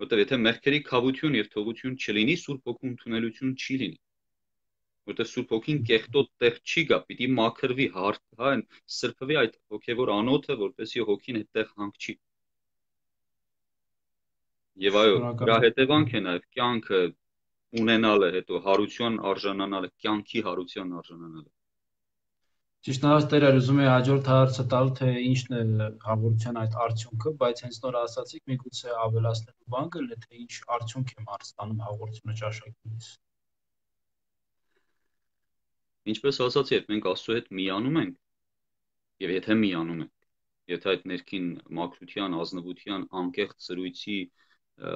Որտեւ եթե մեղքերի քավություն եւ թողություն չլինի, Սուրբ Հոգու ընդունելություն չի լինի։ Որտեւ Սուրբ Հոգին կեղտոտ տեղ չի գա, պիտի մաքրվի, հա, սրբվի այդ հոգեվոր անոթը, որպեսզի հոգին այդտեղ հանգչի։ Եվ այո, դրա հետևանք է նաեւ կյանքը ունենալը, հետո հարություն արժանանալը, կյանքի հարության արժանանալը։ Ճիշտ նայած Տերը ուզում է հաջորդ հարցը տալ, թե ինչն է հաղորդության այդ արդյունքը, բայց հենց նոր ասացիք, միգուցե ավելացնելու բան կլինի, թե ինչ արդյունք է մարդ ստանում հաղորդությունը ճաշակելիս։ Ինչպես ասացի, երբ մենք Աստծո հետ միանում ենք, եւ եթե միանում ենք, եթե այդ ներքին մաքրության, ազնվության, անկեղծ սրույցի,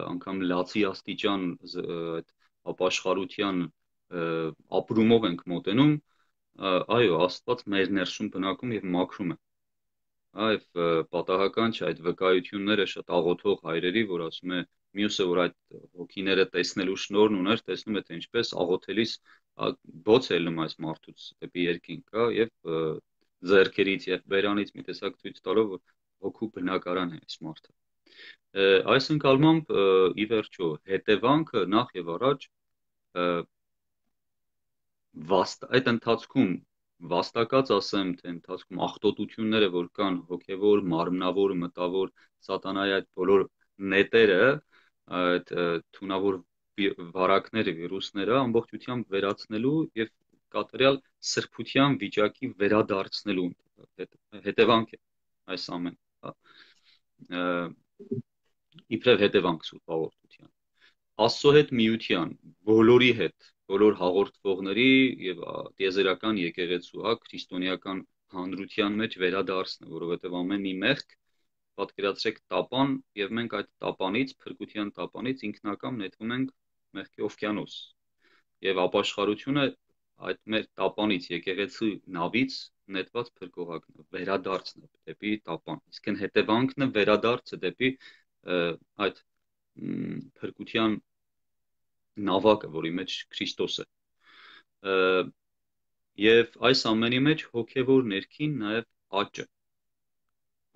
անգամ լացի աստիճան այդ ապաշխարության ապրումով ենք մոտենում, այո, Աստված մեր ներսում բնակում եւ մաքրում է։ Այվ պատահական չէ այդ վկայությունները շատ աղոթող հայրերի, որ ասում է մյուսը, որ այդ հոգիները տեսնելու շնորհն ուներ, տեսնում է թե ինչպես աղոթելիս բոց է լում այս մարդուց դեպի երկինք, հա, եւ ձեռքերից եւ բերանից մի տեսակ ցույց տալով որ հոգու բնակարան է այս մարդը։ Այս ընկալմամբ ի վերջո հետևանքը նախ եւ առաջ այդ ընթացքում վաստակած ասեմ, թե ընթացքում աղտոտությունները, որ կան հոգևոր, մարմնավոր, մտավոր, սատանայի այդ բոլոր նետերը, այդ թունավոր վարակները, վիրուսները ամբողջությամբ վերացնելու եւ կատարյալ սրբության վիճակի վերադարձնելու հետևանք է այս ամեն, հա, իբրև հետևանք Սուրբ Հաղորդության, Աստծո հետ միության, բոլորի հետ, բոլոր հաղորդվողների եւ տիեզերական եկեղեցու, հա, քրիստոնեական հանրության մեջ վերադարձնը, որովհետեւ ամեն մի մեղք պատկերացրեք տապան եւ մենք այդ տապանից, փրկության տապանից ինքնակամ նետվում ենք մեղքի օվկիանոս եւ ապաշխարությունը այդ մեր տապանից եկեղեցու նավից նետված փրկողակն է, վերադարձն է դեպի տապան, իսկ այն հետևանքն է վերադարձը դեպի այդ փրկության նավակը, որի մեջ Քրիստոս է։ Եվ այս ամենի մեջ հոգևոր ներքին նաև աճը,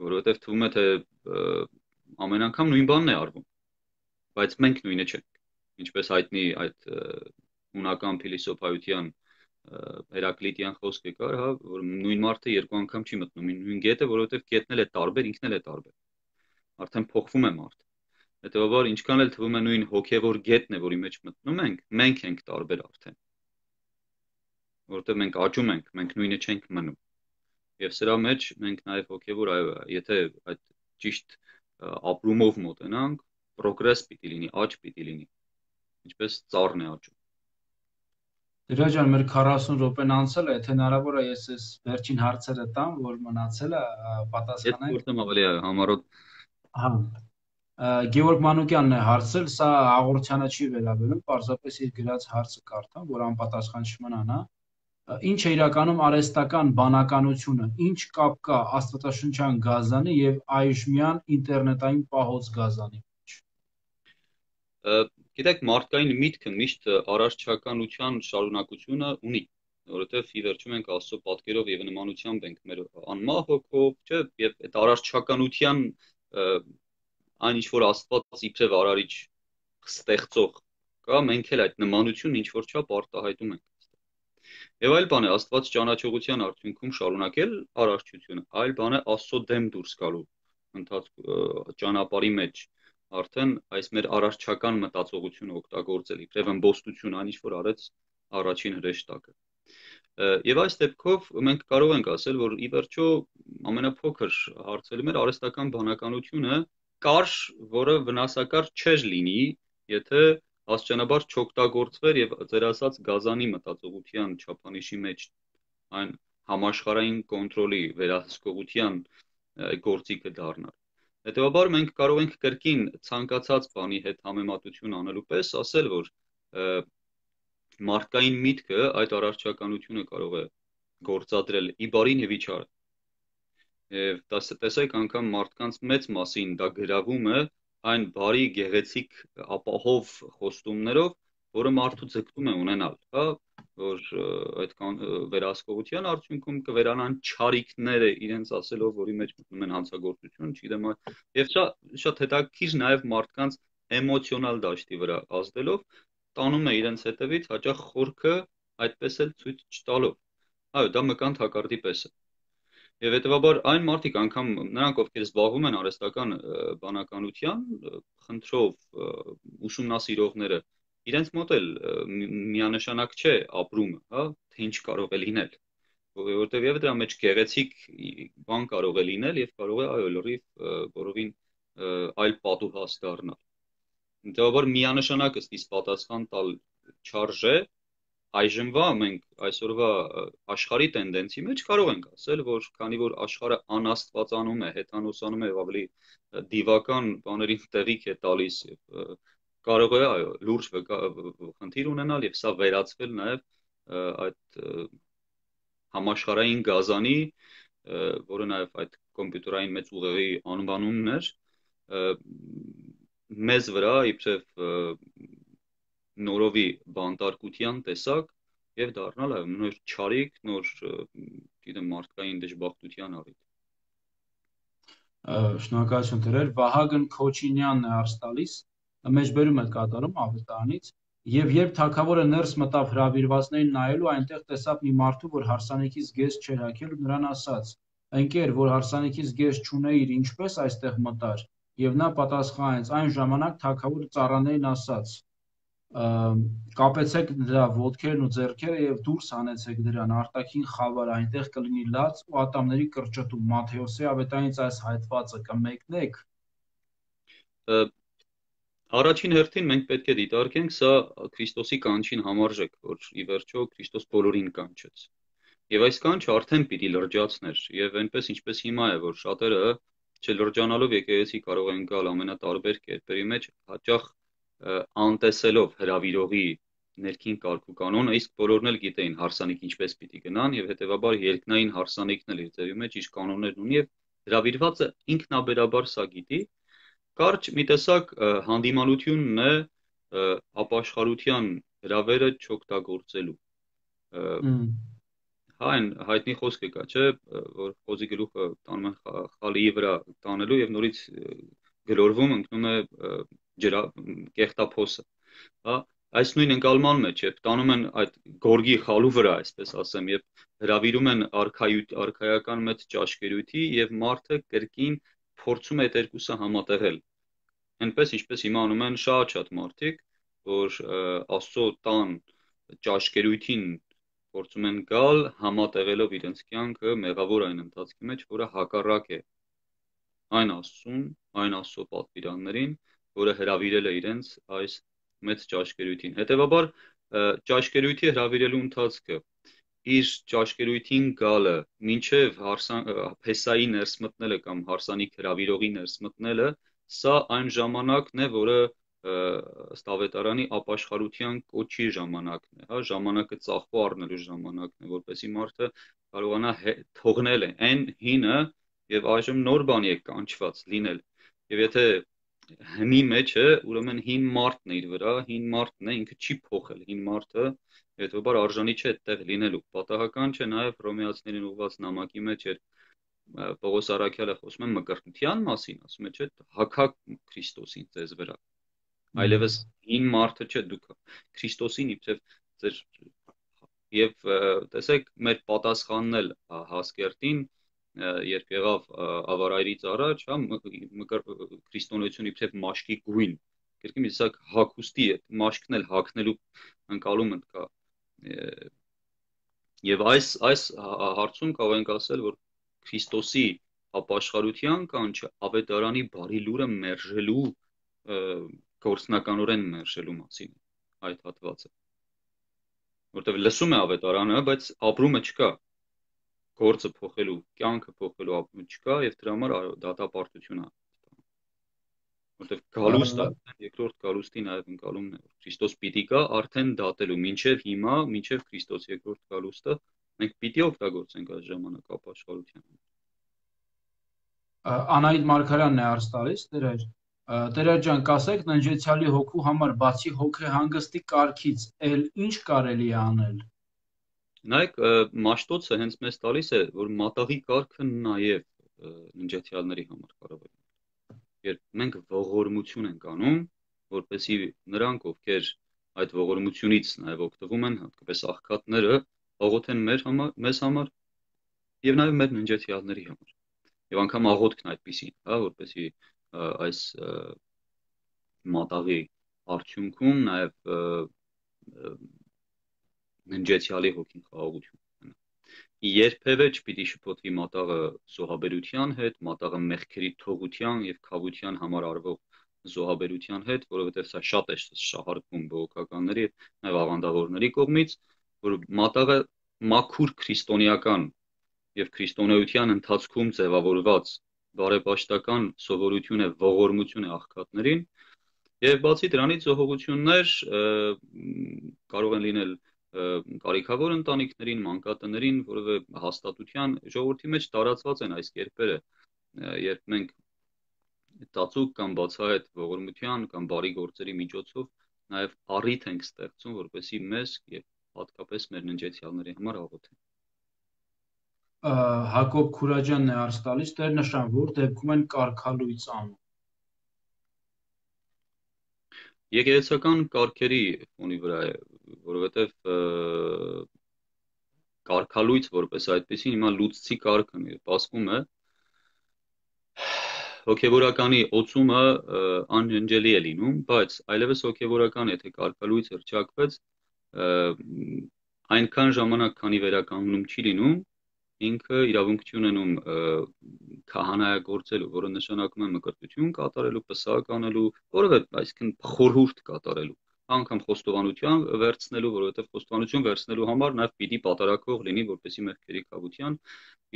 որովհետև թվում է թե ամեն անգամ նույն բանն է արվում, բայց մենք նույնը չենք, ինչպես հայտնի այդ հունական փիլիսոփայության Հերակլիտյան խոսքը կար, հա, որ նույն մարդը երկու անգամ չի մտնում նույն գետը, որովհետև գետն էլ է տարբեր, ինքն էլ է տարբեր։ Արդեն փոխվում է մարդը։ Հետևաբար ինչքան էլ թվում է նույն հոգևոր գետն է, որի մեջ մտնում ենք, մենք ենք տարբեր արդեն։ Որովհետև մենք աճում ենք, մենք նույնը չենք մնում։ Եվ սրա մեջ մենք նաև հոգևոր, այո, եթե այդ ճիշտ ապրումով մոտենանք, progress պիտի լինի, աճ պիտի լինի, ինչպես ծառն է աճում։ Դրա ջան, մեր 40 րոպեն անցել է, եթե հնարավոր է ես այս վերջին հարցերը տամ, որ մնացել է, Եթե պատասխանենք։ որտեմ ավելի համառոտ Հա։ Գևորգ Մանուկյանն է հարցել, սա հաղորդությանը չի վերաբերում, պարզապես իր գրած հարցը կարդամ, որ անպատասխան չմնան, հա։ Ինչ է իրականում արհեստական բանականությունը, ինչ կապ կա աստվածաշնչյան գազանի եւ այժմյան ինտերնետային պահոց գազանի մեջ։ Գիտեք, մարդկային միտքը միշտ առարչականության շարունակությունը ունի, որովհետև ի վերջո մենք Աստծո պատկերով եւ նմանությամբ ենք մեր անմահ հոգով, չէ, եւ այդ առարչականության այն ինչ որ Աստված իբրև արարիչ ստեղծող կա, մենք էլ այդ նմանությունը ինչ որ չափ արտահայտում ենք։ Եվ այլ բան է Աստված ճանաչողության արդյունքում շարունակել արարչությունը, այլ բան է Աստծո դեմ դուրս գալու ճանապարհի մեջ արդեն այս մեր առարչական մտածողությունը օգտագործել իբրև ըմբոստություն, այն ինչ որ արեց առաջին հրեշտակը։ Եվ այս դեպքով մենք կարող ենք ասել, որ ի վերջո ամենափոքր հարցը մեր արհեստական բանականությունը կար, որը վնասակար չէր լինի, եթե աստիճանաբար չօգտագործվեր եւ ձեր ասած գազանի մտածողության չափանիշի մեջ այն համաշխարհային կոնտրոլի վերահսկողության գործիքը դառնար։ Հետևաբար մենք կարող ենք կրկին ցանկացած բանի հետ համեմատություն անելու պես ասել, որ մարդկային միտքը այդ առարչականությունը կարող է գործադրել ի բարին եւ ի չարը։ Եվ տեսեք անգամ մարդկանց մեծ մասին դա գրավում է այն բարի գեղեցիկ ապահով խոստումներով, որը մարդու ձգտում է ունենալ, հա, որ այդ վերահսկողության արդյունքում կվերանան չարիքները իրենց ասելով, որի մեջ մտնում են հանցագործություն, չգիտեմ, եւ շատ հետաքրքիր նաեւ մարդկանց էմոցիոնալ դաշտի վրա ազդելով տանում է իրենց հետևից հաճախ խորքը այդպես էլ ցույց չտալով։ Այո, դա մկան թակարդի պես է։ Եվ հետևաբար այն մարդիկ անգամ նրանք ովքեր զբաղվում են արհեստական բանականության խնդրով ուսումնասիրողները իրենց մոտ էլ միանշանակ չէ ապրումը, հա, թե ինչ կարող է լինել, որովհետև եւ դրա մեջ գեղեցիկ բան կարող է լինել եւ կարող է այո լրիվ որովին այլ պատուհաս դառնալ։ Հետևաբար միանշանակ ըստ իս պատասխան տալ չարժե այժմվա մենք այսօրվա աշխարհի տենդենսի մեջ կարող ենք ասել, որ քանի որ աշխարհը անաստվածանում է, հեթանոսանում է եւ ավելի դիվական բաներին տեղիք է տալիս եւ կարող է այո լուրջ խնդիր ունենալ եւ սա վերածվել նաեւ այդ համաշխարհային գազանի, որը նաեւ այդ կոմպյուտերային մեծ ուղեղի անվանումն էր, մեզ վրա իբրև նորովի բանտարկության տեսակ եւ դառնալ այո նոր չարիք, նոր գիտեմ մարդկային դժբախտության առիթ։ Շնորհակալություն դրել Վահագն Քոչինյանն է արս տալիս, մեջբերում է կատարում ավետարանից եւ երբ թագավորը ներս մտավ հրավիրվածներին նայելու, այնտեղ տեսավ մի մարդու, որ հարսանիքից գեզ չէր հագել ու նրան ասաց. «Ընկեր, որ հարսանիքից գեզ չունեիր, ինչպես այստեղ մտար»։ Եվ նա պատասխանեց. «Այն ժամանակ թագավորը ծառաներին ասաց. կապեցեք դրա ոտքերն ու ձեռքերը եւ դուրս հանեցեք դրան արտաքին խավար, այնտեղ կլինի լաց ու ատամների կրճտում»։ Մատթեոսի ավետարանից այս հայտվածը կմեկնեք։ Առաջին հերթին մենք պետք է դիտարկենք սա Քրիստոսի կանչին համարժեք, որ ի վերջո Քրիստոս բոլորին կանչեց։ Եվ այս կանչը արդեն պիտի լրջացներ, եւ այնպես ինչպես հիմա է, որ շատերը չլրջանալով եկեղեցի կարող են գալ ամենատարբեր կերպերի մեջ, հաճախ անտեսելով հրավիրողի ներքին կարգ ու կանոնը, իսկ բոլորն էլ գիտեին հարսանիք ինչպես պիտի գնան եւ հետեւաբար երկնային հարսանիքն էլ իր ձևի մեջ իր կանոններն ունի եւ հրավիրվածը ինքնաբերաբար սա գիտի, կարճ մի տեսակ հանդիմանությունն է ապաշխարության հրավերը չօգտագործելու։ Հա այն հայտնի խոսքը կա, չէ, որ խոզի գլուխը տանում են խալիի վրա տանելու եւ նորից գլորվում ընկնում է կեղտափոսը, հա, այս նույն ընկալման մեջ է տանում են այդ գորգի խալու վրա, այսպես ասեմ, եւ հրավիրում են արքայական մեծ ճաշկերույթի եւ մարդը կրկին փորձում է այդ երկուսը համատեղել։ Այնպես ինչպես հիմա անում են շատ մարդիկ, որ Աստծո տան ճաշկերույթին փորձում են գալ համատեղելով իրենց կյանքը մեղավոր այն ընթացքի մեջ, որը հակառակ է այն Աստծուն, այն Աստծո պատվիրաններին, որը հրավիրել է իրենց այս մեծ ճաշկերույթին։ Հետևաբար ճաշկերույթի հրավիրելու ընթացքը իր ճաշկերույթին գալը մինչև փեսայի ներս մտնելը կամ հարսանիք հրավիրողի ներս մտնելը, սա այն ժամանակն է, որը ըստ ավետարանի ապաշխարության կոչի ժամանակն է, հա, ժամանակը ծախու առնելու ժամանակն է, որպեսզի մարդը կարողանա թողնել այն հինը եւ այժմ նոր բանի է կանչված լինել։ Եվ եթե հնի մեջ է, ուրեմն հին մարդն է իր վրա, հին մարդն է, ինքը չի փոխել, հին մարդը հետոբար արժանի չէ այդտեղ լինելու։ Պատահական չէ նաև Հռոմեացիներին ուղված նամակի մեջ էր Պողոս Առաքյալը խոսում է մկրտության մասին, ասում է, չէ, հագաք Քրիստոսին ձեզ վրա։ Այլևս հին մարդը չէ, դուք Քրիստոսին իբրև ձեր եւ տեսեք մեր պատասխանն էլ Հասկերտին երբ եղավ ավարայրից առաջ, հա, քրիստոնեություն իբրև մաշկի գույն, կերկի մի սակ հագուստի է, մաշկն էլ հագնելու ընկալումը կա։ Եվ այս հարցում կարող ենք ասել, որ Քրիստոսի ապաշխարության կանչը ավետարանի բարի լուրը մերժելու գործնականորեն մերժելու մասին այդ հատվածը, որտեղ լսում է ավետարանը, բայց ապրումը չկա, գործը փոխելու, կյանքը փոխելու ապրումը չկա եւ դրա համար դատապարտություն է, որտեղ գալուստը երկրորդ գալուստի նաեւ ընկալումն է, որ Քրիստոս պիտի գա արդեն դատելու, մինչեւ հիմա, մինչեւ Քրիստոս երկրորդ գալուստը մենք պիտի օգտագործենք այս ժամանակ ապաշխարության։ Անահիտ Մարգարյանն է արս տալիս, Տերեր ջան, կասեք ննջեցյալի հոգու համար բացի հոգեհանգստի կարգից էլ ինչ կարելի է անել։ Նայեք, Մաշտոցը հենց մեզ տալիս է, որ մատաղի կարգը նաև ննջեցյալների համար կարող է։ Երբ մենք ողորմություն ենք անում, որպեսզի նրանք, ովքեր այդ ողորմությունից նաև օգտվում են, հատկապես աղքատները, աղոթեն մեզ համար եւ նաև մեր ննջեցյալների համար։ Եվ անգամ աղոթքն այդպեսին, հա, որպեսզի այս մատաղի արդյունքում նաև ննջեցյալի հոգին խաղաղություն ունենա։ Երբևէ չպիտի շփոթվի մատաղը զոհաբերության հետ, մատաղը մեղքերի թողության եւ քավության համար արվող զոհաբերության հետ, որովհետեւ սա շատ է շահարկվում բողոքականների եւ աղանդավորների կողմից, որ մատաղը մաքուր քրիստոնեական եւ քրիստոնեության ընթացքում ձևավորված բարեպաշտական սովորություն է, ողորմություն է աղքատներին, եւ բացի դրանից զոհողություններ կարող են լինել կարիքավոր ընտանիքներին, մանկատներին, որովե հաստատության ժողովրդի մեջ տարածված են այս կերպերը, երբ մենք ծածուկ կամ բացահայտ ողորմության կամ բարի գործերի միջոցով նաև առիթ ենք ստեղծում, որպեսզի մեզ եւ հատկապես մեր ննջեցյալների համար աղոթեն։ Հակոբ Քուրաջյանն է արս տալիս, Տեր-նշան, որ դեպքում են կարգալույծ անում։ Եկեղեցական կարգերի ֆոնի վրա է, որովհետև կարգալույծ որպես այդպեսին հիմա լուծցի կարգն է, ասվում է հոգևորականի օծումը անջնջելի է լինում, բայց այլևս հոգևորական եթե կարգալույց հռչակվեց, այնքան ժամանակ, քանի վերականգնում չի լինում, ինքը իրավունք չի ունենում քահանայագործելու, որը նշանակում է մկրտություն կատարելու, պսակ անելու, որովհետև այսինքն խորհուրդ կատարելու, անգամ խոստովանություն վերցնելու, որովհետև խոստովանություն վերցնելու համար նաև պիտի պատարակող լինի, որպեսզի մեղքերի կավության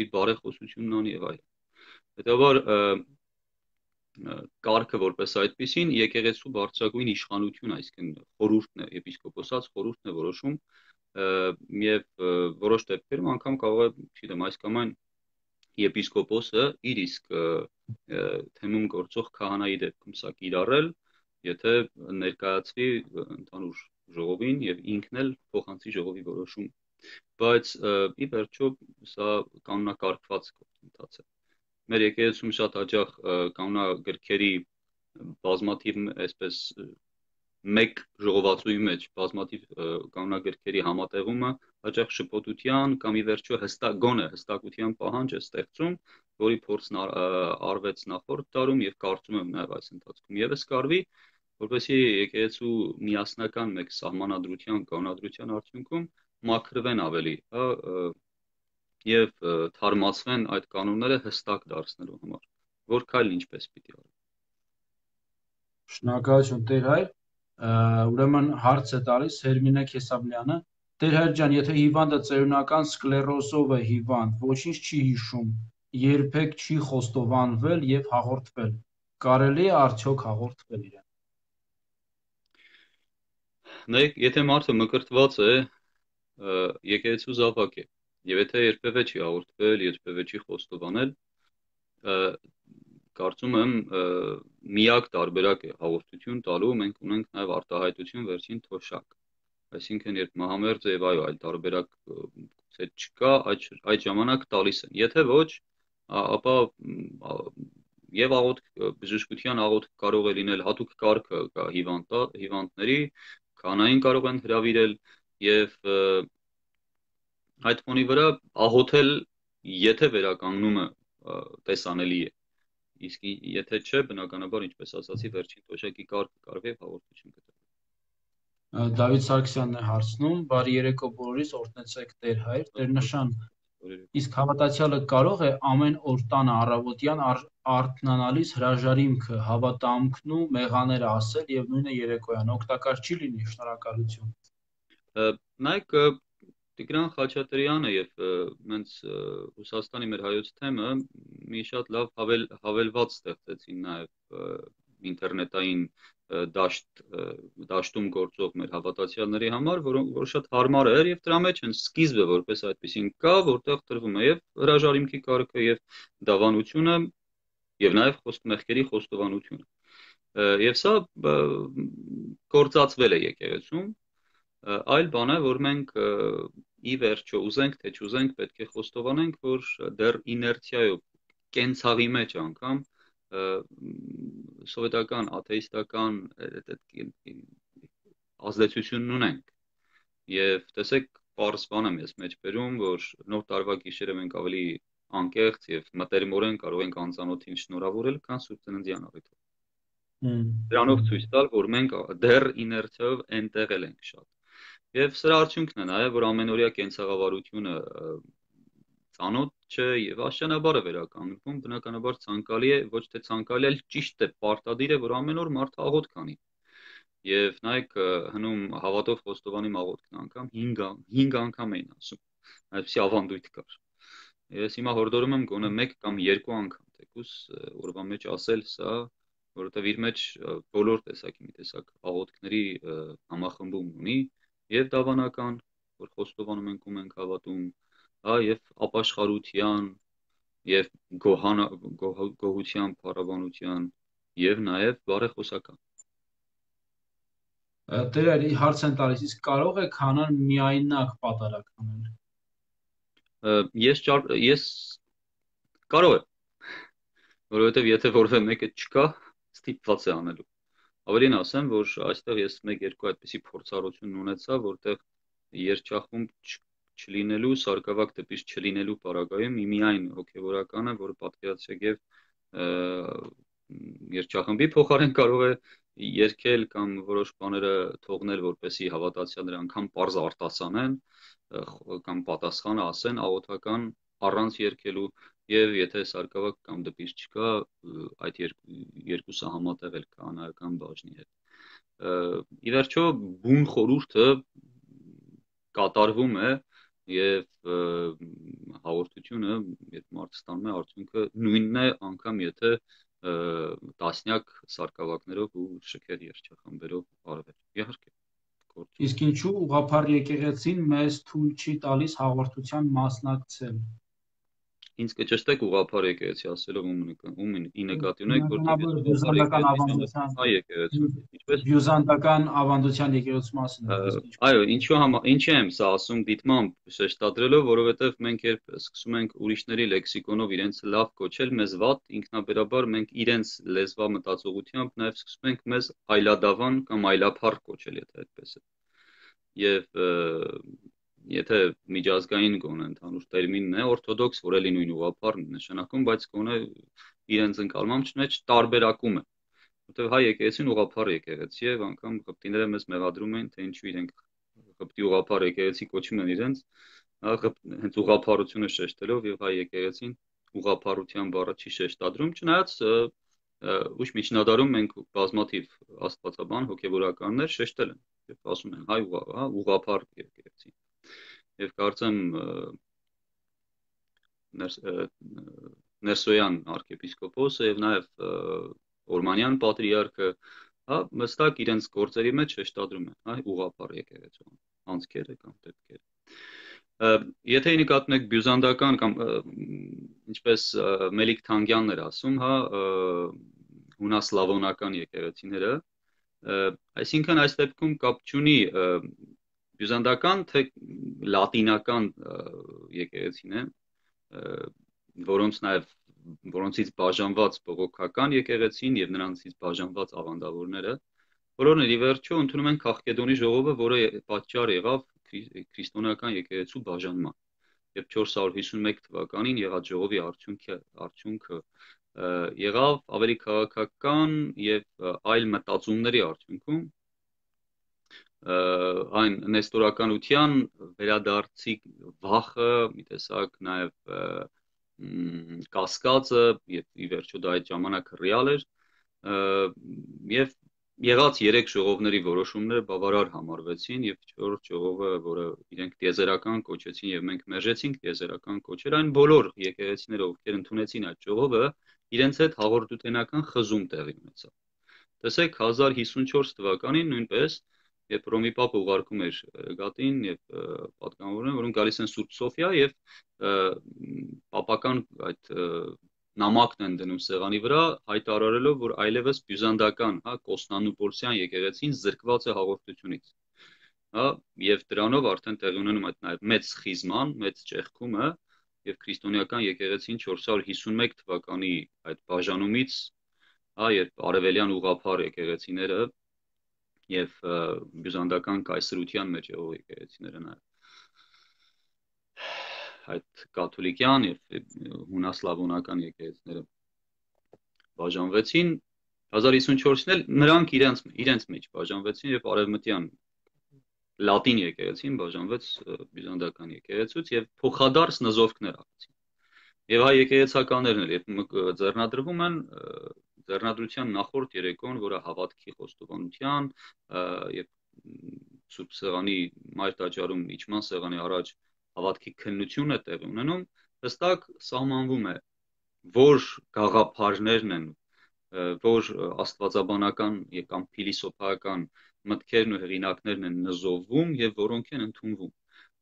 իր բարեխոսությունն անի եւ այլն։ Հետևաբար կարգը որպես այդպեսին եկեղեցու բարձրագույն իշխանություն, այսինքն խորհուրդն է, եպիսկոպոսած խորհուրդն է որոշում եւ որոշ դեպքերում անգամ կարող է, չգիտեմ, այս կամ այն եպիսկոպոսը իր իսկ թեմում գործող քահանայի դեպքում սա կիրառել, եթե ներկայացվի ընդհանուր ժողովին եւ ինքն էլ փոխանցի ժողովի որոշում, բայց ի վերջո սա կանոնակարգված գործընթաց է։ Մեր եկեղեցում շատ հաճախ կանոնագրքերի բազմաթիվ այսպես մեկ ժողովածուի մեջ բազմաթիվ կանոնագրքերի համատեղումը հաճախ շփոթության կամ ի վերջո հստակության պահանջ է ստեղծում, որի փորձն արվեց նախորդ տարում եւ կարծում եմ նաեւ այս ընթացքում եւս կարվի, որպեսզի եկեղեցու միասնական մեկ սահմանադրության կանոնադրության արդյունքում մաքրվեն ավելի, հա, եւ թարմացվեն այդ կանոնները հստակ դարձնելու համար, որ քայլն ինչպես պիտի արվի։ Շնորհակալություն Տեր հայր։ Ուրեմն հարց է տալիս Հերմինե Քեսաբլյանը։ Տեր հայր ջան, եթե հիվանդը ծերունական սկլերոզով է հիվանդ, ոչինչ չի հիշում, երբեք չի խոստովանվել եւ հաղորդվել, կարելի է արդյոք հաղորդվել իրեն։ Նայեք, եթե մարդը մկրտված է, եկեղեցու զավակ է, եւ եթե երբևէ չի հաղորդվել, երբևէ չի խոստովանել, կարծում եմ միակ տարբերակ է հաղորդություն տալու, մենք ունենք նաև արտահայտություն վերջին թոշակ, այսինքն երբ մահամերձ եւ այո, այլ տարբերակ գուցե չկա, այդ ժամանակ տալիս են, եթե ոչ, ապա եւ բժշկության աղոթք կարող է լինել հատուկ կարգը կա հիվանդների, կանային կարող են հրավիրել եւ այդ ֆոնի վրա աղոթել, եթե վերականգնումը տեսանելի է, իսկ եթե չէ, բնականաբար, ինչպես ասացի, վերջին թոշակի կարգը կարվի հաղորդություն կտրել։ Դավիթ Սարգսյանն է հարցնում, բարի երեկո բոլորիս, օրհնեցեք Տեր հայր, Տերնշան, իսկ հավատացյալը կարող է ամեն օր տանը առավոտյան արթնանալիս հրաժարիմքը, հավատամքն ու մեղաները ասել եւ նույնը երեկոյան օգտակար չի լինի, շնորհակալություն։ Նայեք, Տիգրան Խաչատրյանը եւ մենց Ռուսաստանի մեր հայոց թեմը մի շատ լավ հավելված ստեղծեցին նաեւ ինտերնետային դաշտում գործող մեր հավատացյալների համար, որ շատ հարմար էր եւ դրա մեջ են սկիզբը որպես այդպեսին կա, որտեղ տրվում է եւ հրաժարիմքի կարգը եւ դավանությունը եւ նաեւ մեղքերի խոստովանությունը։ Եվ սա գործածվել է եկեղեցում, այլ բան է, որ մենք ի վերջո ուզենք թե չուզենք պետք է խոստովանենք, որ դեռ իներցիայով կենցաղի մեջ անգամ սովետական աթեիստական ազդեցությունն ունենք եւ տեսեք պարզ բան եմ ես մեջ բերում, որ նոր տարվա գիշերը մենք ավելի անկեղծ եւ մտերմորեն կարող ենք անծանոթին շնորհավորել, քան Սուրբ Ծննդյան առիթով։ Դրանով ցույց տալ, որ մենք դեռ իներցիայով այնտեղ ենք շատ։ Եվ սրա արդյունքն է նաեւ, որ ամենօրյա կենցաղավարությունը ծանոթ չէ եւ աշճանաբար է վերականգնվում, բնականաբար ցանկալի է, ոչ թե ցանկալի, այլ ճիշտ է, պարտադիր է, որ ամեն օր մարդը աղոթք անի։ Եվ նայեք, հնում հավատով խոստովանի աղոթքն անգամ 5 անգամ էին ասում, այսպեսի ավանդույթ կար։ Ես հիմա հորդորում եմ գոնե 1 կամ 2 անգամ թեկուս օրվա մեջ ասել սա, որովհետեւ իր մեջ բոլոր տեսակի մի տեսակ աղոթքների համախմբում ունի եւ դավանական, որ խոստովանում ենք ու մենք հավատում, եւ ապաշխարության եւ գոհության, փառաբանության եւ նաեւ բարեխոսական։ Տեր հարց են տալիս, իսկ կարող է քանան միայնակ պատարակ անել։ Ես կարող է, որովհետեւ եթե որևէ մեկը չկա, ստիպված է անելու։ Ավելին ասեմ, որ այստեղ ես 1-2 այդպիսի փորձառություն ունեցա, որտեղ երջախումբ չլինելու, սարկավակ դեպից չլինելու պարագայում միայն հոգևորականը, որը պատկերացրեք եւ երջախմբի փոխարեն կարող է երկել կամ որոշ բաները թողնել, որպեսի հավատացյալները անգամ պարզ արտասանեն կամ պատասխանը ասեն աղոթական առանց երկելու եւ եթե սարկավակ կամ դեպից չկա, այդ երկուսը համատեղել քահանայական բաժնի հետ։ Ի վերջո բուն խորհուրդը կատարվում է եւ հաղորդությունը, երբ մարդը ստանում է արդյունքը նույնն է անգամ եթե տասնյակ սարկավակներով ու շքեղ երջախմբերով արվել։ Իհարկե։ Իսկ ինչու ուղղափառ եկեղեցին մեզ թույլ չի տալիս հաղորդության մասնակցել։ Ինձ կճշտեք ուղղափառ եկեղեցի ասելով ում ի նկատի ունեք, որտեղ բյուզանդական ավանդության եկեղեցու մասին։ Այո, ինչի եմ սա ասում դիտմամբ շեշտադրելով, որովհետև մենք երբ սկսում ենք ուրիշների լեքսիկոնով իրենց լավ կոչել, մեզ վատ, ինքնաբերաբար մենք իրենց լեզվա մտածողությամբ նաև սկսում ենք մեզ այլադավան կամ այլափառ կոչել, եթե այդպես է։ Եվ եթե միջազգային գոնե ընդհանուր տերմինն է, օրթոդոքս, որ էլի նույն ուղղափառն նշանակում, բայց գոնե իրենց ընկալման մեջ տարբերակում է։ Որտեղ հայ եկեղեցին ուղղափառ եկեղեցի է, անգամ ղպտիները մեզ մեղադրում են, թե ինչու իրենք ղպտի ուղղափառ եկեղեցի կոչում են իրենց, հենց ուղղափառությունը շեշտելով եւ հայ եկեղեցին ուղղափառության բառը չի շեշտադրում, չնայած ուշ միջնադարում մենք բազմաթիվ աստվածաբան հոգևորականներ շեշտել են եւ ասում են հայ ուղղափառ եկեղեցի եւ կարծեմ Ներսոյան arczepiskopos-ը եւ նաեւ Օրմանյան պատրիարքը մստակ իրենց գործերի մեջ շեշտադրում են հայ ուղղափառ եկեղեցու անցքերը կամ դեպքերը Եթե նկատենք բյուզանդական կամ ինչպես Մելիք Թանգյանն էր ասում, հունասլավոնական եկեղեցիները, այսինքն այս դեպքում կապ չունի բյուզանդական թե լատինական եկեղեցին է, որոնցից բաժանված բողոքական եկեղեցին եւ նրանցից բաժանված ավանդավորները, բոլորն ի վերջո ընդունում են Քաղկեդոնի ժողովը, որը պատճառ եղավ քրիստոնեական եկեղեցու բաժանման եւ 451 թվականին եղած ժողովի արդյունքը եղավ ավելի քաղաքական եւ այլ մտածումների արդյունքում այն նեստորականության վերադարձի վախը մի տեսակ նաեւ կասկածը եւ ի վերջո դա այդ ժամանակ ռեալ էր եւ Եղած 3 ժողովների որոշումները բավարար համարվեցին եւ 4-րդ ժողովը, որը իրենք տիեզերական կոչեցին եւ մենք մերժեցինք տիեզերական կոչեր, այն բոլոր եկեղեցիները, ովքեր ընդունեցին այդ ժողովը, իրենց հետ հաղորդութենական խզում տեղի ունեցավ։ Տեսեք 1054 թվականին նույնպես, երբ Ռոմի Պապը ուղարկում էր Գատին եւ պատգամավորներին, որոնք գալիս են Սուրբ Սոֆիա եւ պապական այդ նամակն են դնում սեղանի վրա, հայտարարելով, որ այլևս բյուզանդական, Կոստանդնուպոլսյան եկեղեցին զրկված է հաղորդությունից։ Եվ դրանով արդեն տեղի ունենում այդ նաև մեծ սխիզման, մեծ ճեղքումը, եւ քրիստոնեական եկեղեցին 451 թվականի այդ բաժանումից, երբ արևելյան ուղղափառ եկեղեցիները եւ բյուզանդական կայսրության մեջ եղող եկեղեցիները նաև այդ կաթոլիկյան եւ հունասլավոնական եկեղեցիները բաժանվեցին 1054-ին էլ նրանք իրենց մեջ բաժանվեցին եւ արևմտյան լատին եկեղեցին բաժանվեց բյուզանդական եկեղեցուց եւ փոխադարձ նզովքներ արեցին եւ հայ եկեղեցականներն էլ երբ ձեռնադրվում են ձեռնադրության նախորդ երեկոն որը հավատքի խոստովանության եւ Սուրբ Սեղանի մայր տաճարում իջման սեղանի առաջ հավատքի քննությունը տեղի ունենում, հստակ սահմանվում է, որ գաղափարներն են, որ աստվածաբանական կամ փիլիսոփայական մտքերն ու հեղինակներն են նզովվում եւ որոնք են ընդունվում։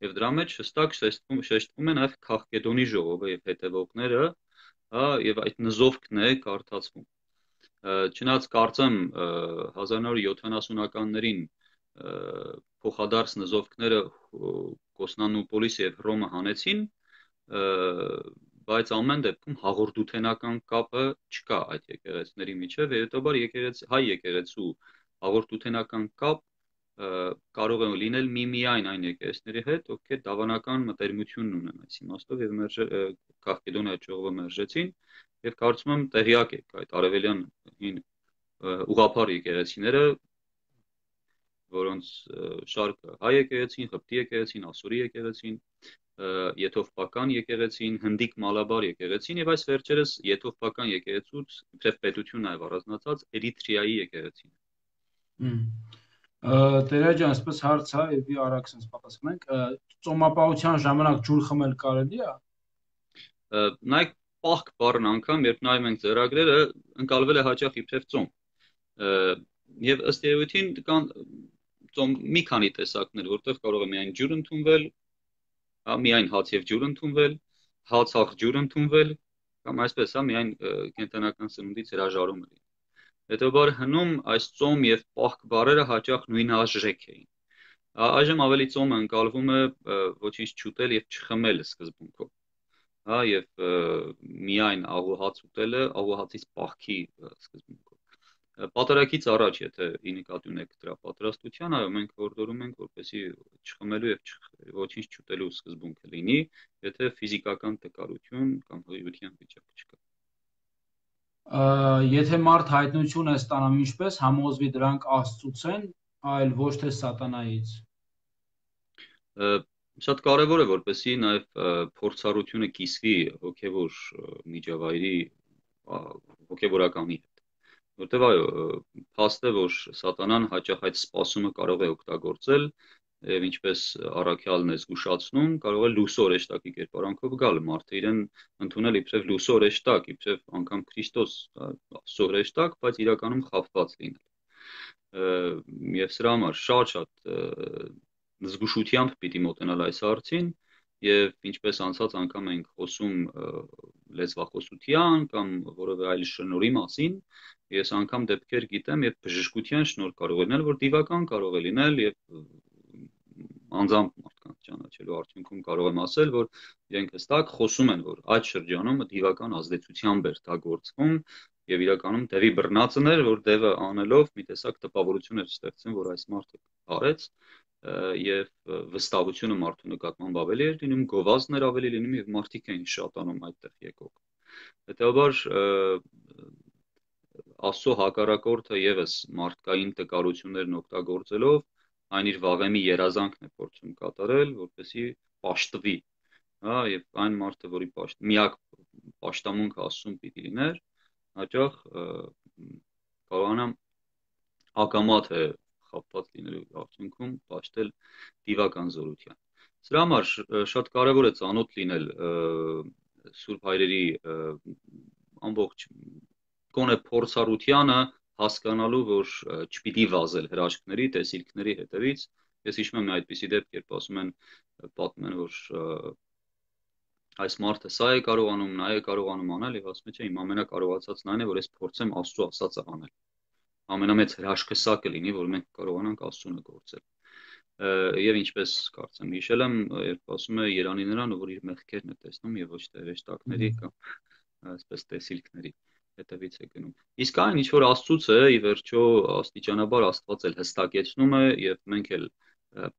Եվ դրա մեջ հստակ շեշտվում է նաեւ Քաղկեդոնի ժողովը եւ հետևողները, եւ այդ նզովքն է կարդացվում։ Չնայած կարծեմ 1970-ականներին փոխադարձ նզովքները Կոստանդնուպոլիս եւ Հռոմը հանեցին, բայց ամեն դեպքում հաղորդութենական կապը չկա այդ եկեղեցիների միջև, հետաբար հայ եկեղեցու հաղորդութենական կապ կարող է լինել միայն այն եկեղեցիների հետ, ովքեր դավանական մտերմություն ունեն այս իմաստով եւ Քաղկեդոնի այդ ժողովը մերժեցին եւ կարծում եմ տեղյակ եք այդ արևելյան ուղղափառ եկեղեցիները որոնց շարքը հայ եկեղեցին, Ղպտի եկեղեցին, Ասորի եկեղեցին, Եթովպական եկեղեցին, Հնդիկ Մալաբար եկեղեցին եւ այս վերջերս Եթովպական եկեղեցուց իբրև պետություն նաեւ առանձնացած Էրիթրեայի եկեղեցին։ Տերա ջան, այսպես հարց է եւ արագ sense պատասխանենք, ծոմապահության ժամանակ ջուր խմել կարելի է։ Նայեք պահք բառն անգամ, երբ նայում ենք ծրագրերը, ընկալվել է հաճախ իբրև ծոմ։ Եվ ըստ էության կան ծոմ մի քանի տեսակներ, որտեղ կարող է միայն ջուր ընդունվել, միայն հաց եւ ջուր ընդունվել, հաց ջուր ընդունվել, կամ այսպես, միայն կենտրոնական սնունդից հրաժարում է։ Հետո հնում այս ծոմ եւ պահք բառերը հաճախ նույնաժեք էին։ Այժմ ավելի ծոմը ընկալվում է ոչինչ չուտել եւ չխմել սկզբունքով։ Եվ միայն աղուհաց ուտելը աղուհացից պահքի սկզբունքով։ Պատարագից առաջ, եթե ի նկատի ունեք դրա պատրաստության, այո, մենք հորդորում ենք, որպեսզի չխմելու եւ ոչինչ չուտելու սկզբունքը լինի, եթե ֆիզիկական տկարություն կամ հղիության վիճակ չկա։ Եթե մարդ հայտնություն է ստանում ինչպես, համոզվի դրանք Աստծուց են, այլ ոչ թե սատանայից։ Շատ կարևոր է, որպեսզի նաեւ փորձառությունը կիսվի հոգեվոր միջավայրի հոգեվորականի հետ։ որտեվ այո, փաստ է, որ սատանան հաճախ այդ սպասումը կարող է օգտագործել եւ ինչպես առաքյալն է զգուշացնում, կարող է լուսո օրեշտակի կերպարանքով գալ մարդը իրեն ընդունել իբրև լուսո օրեշտակ, իբրև անգամ Քրիստոս Աստծո օրեշտակ, բայց իրականում խաբված լինել։ Եվ սրա համար շատ զգուշությամբ պիտի մոտենալ այս հարցին եւ ինչպես անցած անգամ ենք խոսում լեզվախոսության կամ որևէ այլ շնորհի մասին, ես անգամ դեպքեր գիտեմ, երբ բժշկության շնորհ կարող է լինել, որ դիվական կարող է լինել եւ անձամբ մարդկանց ճանաչելու արդյունքում կարող եմ ասել, որ իրենք հստակ խոսում են, որ այդ շրջանում դիվական ազդեցությամբ էր դա գործվում եւ իրականում դեպի բռնածն էր, որ դևը անելով մի տեսակ տպավորություն էր ստեղծում, որ այս մարդը արեց եւ վստահությունը մարդու նկատմամբ ավելի էր լինում, գովազդներ ավելի լինում եւ մարդիկ էին շատանում այդտեղ եկող։ Հետեւաբար Աստծո հակառակորդը եւս մարդկային տկարություններն օգտագործելով այն իր վաղեմի երազանքն է փորձում կատարել, որպեսզի պաշտվի, հա, եւ այն մարդը, որի միակ պաշտամունքը Աստծուն պիտի լիներ, հաճախ կարողանա ակամա թե խաբված լինելու արդյունքում պաշտել դիվական զորության։ Սրա համար շատ կարևոր է ծանոթ լինել Սուրբ Հայրերի ամբողջ կոնե փորձառությանը, հասկանալու, որ չպիտի վազել հրաշքների, տեսիլքների հետևից։ Ես հիշում եմ մի այդպիսի դեպք, երբ ասում են, պատմում են, որ այս մարդը սա է կարողանում, նա է կարողանում անել եւ ասում է, չէ, իմ ամենակարողացածն այն է, որ ես փորձեմ Աստծո ասածը անել։ Ամենամեծ հրաշքը սա կլինի, որ մենք կարողանանք Աստծունը գործել։ Եվ ինչպես կարծեմ հիշել եմ, երբ ասում է Երանի նրան, որ իր մեղքերն է տեսնում եւ ոչ թե հրեշտակների կամ այսպես տեսիլքների հետևից է գնում։ Իսկ այն ինչ որ Աստծուց է, ի վերջո աստիճանաբար Աստված էլ հստակեցնում է եւ մենք էլ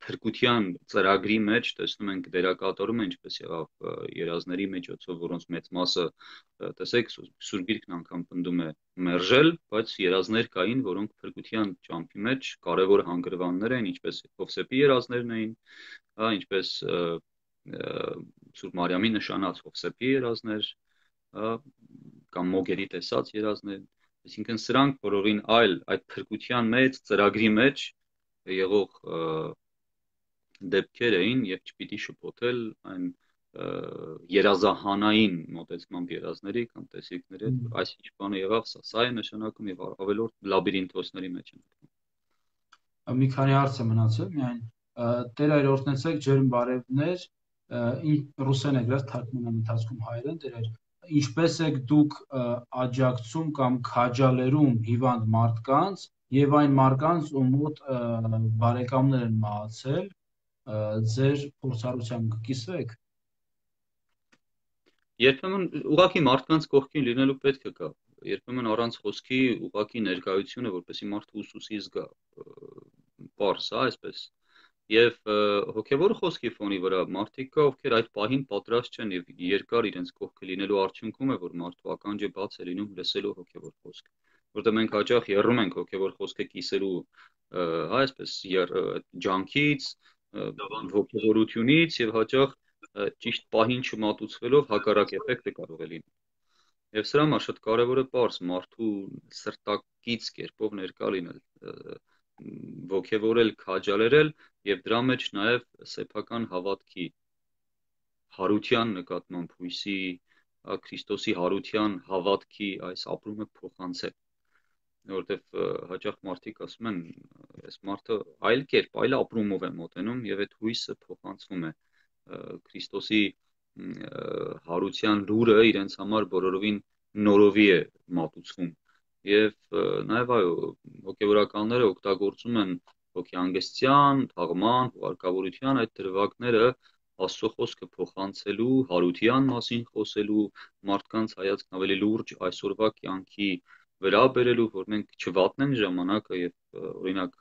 փրկության ծրագրի մեջ տեսնում ենք դերակատարում է ինչպես եղավ երազների միջոցով, որոնց մեծ մասը տեսեք Սուրբ Գիրքն անգամ պնդում է մերժել, բայց երազներ կային, որոնք փրկության ճամփի մեջ կարևոր հանգրվաններ են, ինչպես Հովսեփի երազներն էին, հա, ինչպես Սուրբ Մարիամի նշանած Հովսեփի երազներ, հա, կամ մոգերի տեսած երազներ, այսինքն սրանք բոլորին այդ փրկության մեջ ծրագրի մեջ եղող դեպքեր էին եւ չպիտի շփոթել այն երազահանային մոտեցմամբ երազների կամ տեսիլքների հետ, որ այս ինչ բանը եղավ, սա է նշանակում եւ ավելորդ լաբիրինթոսների մեջ են։ Մի քանի հարց է մնացել, միայն Տեր այր օրհնեցեք ջերմ բարևներ, ռուսեն է գրած թարգմանան ընթացքում հայերեն, Տեր ինչպես եք դուք աջակցում կամ քաջալերում հիվանդ մարդկանց եւ այն մարդկանց, ում մոտ բարեկամներ են մահացել, ձեր փորձառությամբ կկիսվեք։ Երբեմն ուղղակի մարդկանց կողքին լինելու պետք է կա, երբեմն առանց խոսքի ուղղակի ներկայությունը, որպեսզի մարդը ուսուսի զգա, պարզ, այսպես։ Եվ հոգևոր խոսքի ֆոնի վրա մարդիկ կա, ովքեր այդ պահին պատրաստ չեն եւ երկար իրենց կողքը լինելու արդյունքում է, որ մարդու ականջը բաց է լինում լսելու հոգևոր խոսք, որտեղ մենք հաճախ եռում ենք հոգևոր խոսքը կիսելու, այսպես ջանքից, ոգևորությունից եւ հաճախ ճիշտ պահին չմատուցվելով հակառակ էֆեկտը կարող է լինել։ Եվ սրա համար շատ կարևոր է պարզ մարդու սրտակից կերպով ներկա լինել, ոգևորել, քաջալերել եւ դրա մեջ նաեւ սեփական հավատքի հարության նկատմամբ հույսի, Քրիստոսի հարության հավատքի այս ապրումը փոխանցել, որովհետեւ հաճախ մարդիկ ասում են, այս մարդը այլ կերպ, այլ ապրումով է մոտենում եւ այդ հույսը փոխանցվում է Քրիստոսի հարության լուրը իրենց համար բոլորովին նորովի է մատուցվում եւ նաեւ այո հոգեվորականները օգտագործում են հոգեհանգստյան, թաղման, հուղարկավորության այդ դրվագները Աստծո խոսքը փոխանցելու, հարության մասին խոսելու, մարդկանց հայացքն ավելի լուրջ այսօրվա կյանքի վրա բերելու, որ մենք չվատնենք ժամանակը եւ օրինակ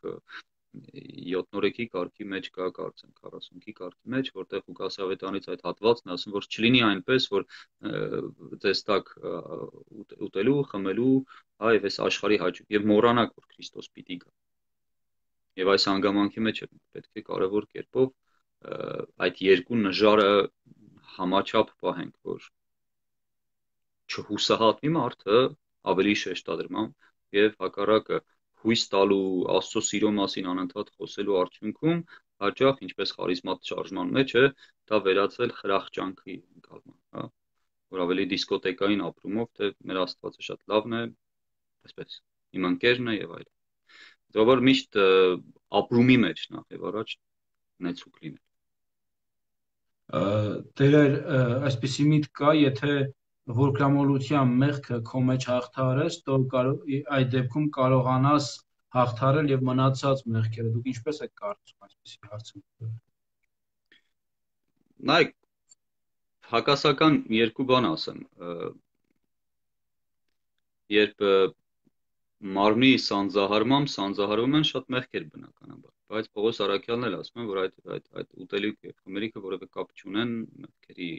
7-օրեկի կարգի մեջ կա կարծեմ 40-ի կարգի մեջ, որտեղ Ղուկաս ավետարանից այդ հատվածն ասում, որ չլինի այնպես, որ տեստակ ուտելու, խմելու, հա եւ այս աշխարհի հաճույք եւ մոռանաք, որ Քրիստոս պիտի գա։ Եվ այս հանգամանքի մեջ պետք է կարևոր կերպով այդ երկու նժարը համաչափ պահենք, որ չհուսահատվի մարդը ավելի շեշտադրմամբ, եւ հակառակը հույս տալու Աստծո սիրո մասին անընդհատ խոսելու արդյունքում հաճախ ինչպես խարիզմատ շարժման մեջ է դա վերածել խրախճանքի ընկալման, հա, որ ավելի դիսկոտեկային ապրումով թե մեր Աստվածը շատ լավն է, այսպես իմ ընկերն է եւ այլն։ Դա որ միշտ ապրումի մեջ նախ եւ առաջ նեցուկ լինել։ Տերեր այսպեսի միտք կա, եթե որկրամոլության մեղքը քո մեջ հաղթարես, то այդ դեպքում կարողանաս հաղթարել եւ մնացած մեղքերը։ Դուք ինչպես եք կարծում այսպեսի հարցում։ Նայեք, հակասական երկու բան ասեմ։ Երբ մարմնի սանձահարվում են շատ մեղքեր բնականաբար, բայց Պողոս Արաքյալն էլ ասում է, որ այդ ուտելիք եւ խմելիքը որևէ կապ չունեն մեղքերի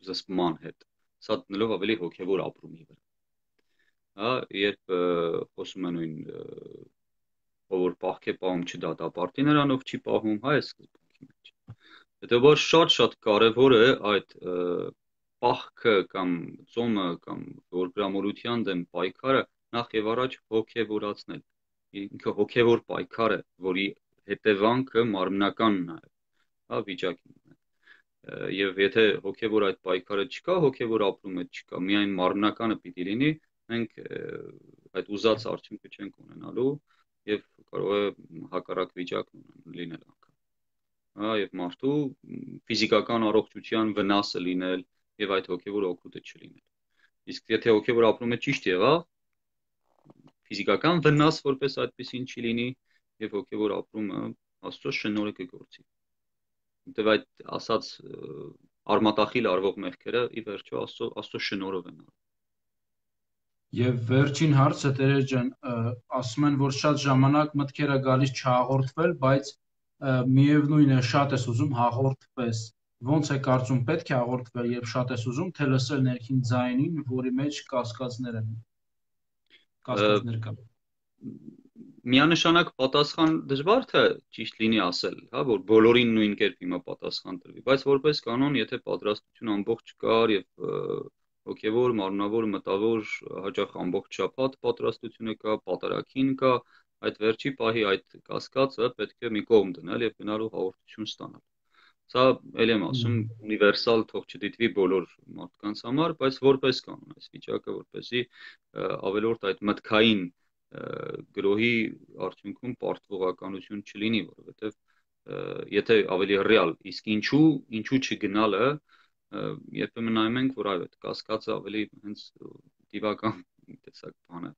զսպման հետ, սա դնելով ավելի հոգեվոր ապրումի վրա։ Հա, երբ խոսում են նույն որ պահք է պահում չդատապարտի նրանով չի պահում, հա, այս սկզբունքի մեջ։ Հետեւաբար շատ կարևոր է այդ պահքը կամ ծոմը կամ որգրամոլության դեմ պայքարը նախ եւ առաջ հոգեվորացնել։ Ինքը հոգեվոր պայքար է, որի հետևանքը մարմնականն է, հա, վիճակին։ Եվ եթե հոգեվոր այդ պայքարը չկա, հոգեվոր ապրումը չկա, միայն մարմնականը պիտի լինի, մենք այդ ուզած արդյունքը չենք ունենալու եւ կարող է հակառակ վիճակ լինել անգամ։ Հա, եւ մարդու ֆիզիկական առողջության վնասը լինել եւ այդ հոգեվոր օգուտը չլինել։ Իսկ եթե հոգեվոր ապրումը ճիշտ եղավ, ֆիզիկական վնաս որպես այդպեսին չի լինի եւ հոգեվոր ապրումը Աստծո շնորհը կգործի։ Որտեւ այդ ասած արմատախիլ արվող մեղքերը ի վերջո Աստծո շնորհով են։ Եվ վերջին հարցը Տերեր ջան, ասում են, որ շատ ժամանակ մտքերը գալիս չհաղորդվել, բայց միևնույն է շատ ես ուզում հաղորդվես։ Ոնց է կարծում պետք է հաղորդվել, երբ շատ ես ուզում, թե լսել ներքին ձայնին, որի մեջ կասկածներ են։ Կասկածներ կան։ Միանշանակ պատասխան դժվար թե ճիշտ լինի ասել, հա, որ բոլորին նույն կերպ հիմա պատասխան տրվի, բայց որպես կանոն, եթե պատրաստություն ամբողջ կար եւ հոգեվոր, մարմնավոր, մտավոր հաճախ ամբողջ շաբաթ պատրաստությունը կա, պատարագին կա, այդ վերջի պահի այդ կասկածը պետք է մի կողմ դնել եւ գնալու հաղորդություն ստանալ։ Սա ել եմ ասում ունիվերսալ թող չդիտվի բոլոր մարդկանց համար, բայց որպես կանոն այս վիճակը, որպեսզի ավելորդ այդ մտքային գրոհի արդյունքում պարտվողականություն չլինի, որովհետեւ եթե ավելի ռեալ, իսկ ինչու չգնալը, երբեմն նայում ենք, որ այո, այդ կասկածը ավելի հենց դիվական տեսակ բան է,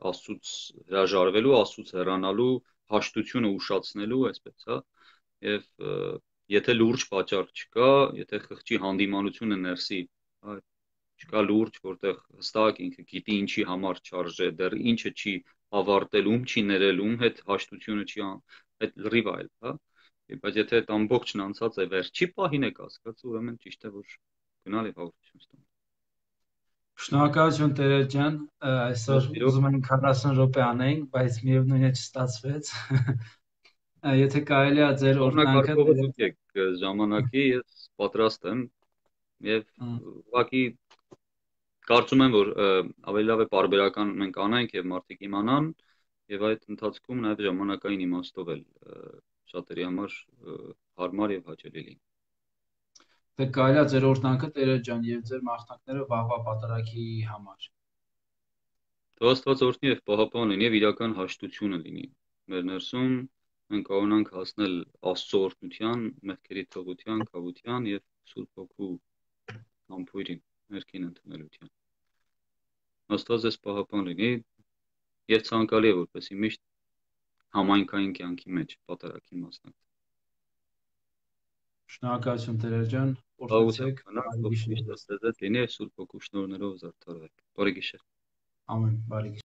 Աստծուց հրաժարվելու, Աստծուց հեռանալու, հաշտությունը ուշացնելու, այսպես, հա, եւ եթե լուրջ պատճառ չկա, եթե խղճի հանդիմանությունը ներսի, հա, չկա լուրջ, որտեղ հստակ ինքը գիտի ինչի համար չարժե, դեռ ինչը չի ավարտել, ում չի ներել, ում հետ հաշտությունը չի այդ լրիվ այլ, հա։ Բայց եթե այդ ամբողջն անցած է վերջի պահին է կասկածը, ուրեմն ճիշտ է որ գնալ եւ հաղորդություն ստանալ։ Շնորհակալություն Տերեր ջան, այսօր ուզում ենք 40 րոպե անենք, բայց միևնույն է չստացվեց։ Եթե կարելի է ձեր օրհնանքը ժամանակի ես պատրաստ եմ եւ ուղղակի կարծում եմ որ ավելի լավ է պարբերական մենք անենք եւ մարդիկ իմանան եւ այդ ընթացքում նաեւ ժամանակային իմաստով էլ շատերի համար հարմար եւ հաճելի լինի։ Թե կարելի է ձեր օրհնանքը Տերեր ջան եւ ձեր մասնակիցները վաղվա պատարագի համար։ Թող Աստված օրհնի եւ պահապան լինի եւ իրական հաշտությունը լինի մեր ներսում, մենք կարողանանք հասնել Աստծո օրհնության, մեղքերի թողության, կավության եւ Սուրբ Հոգու համբույրին, ներքին ընդունելության։ Աստված ձեզ պահապան լինի եւ ցանկալի է որպեսզի միշտ համայնքային կյանքի մեջ պատարագին մասնակցել։ Շնորհակալություն Տերեր ջան, օրհնեցեք, միշտ Աստծո լինի Սուրբ Հոգու շնորհներով զարդարվեք։ Բարի գիշեր։ Ամեն, բարի գիշեր։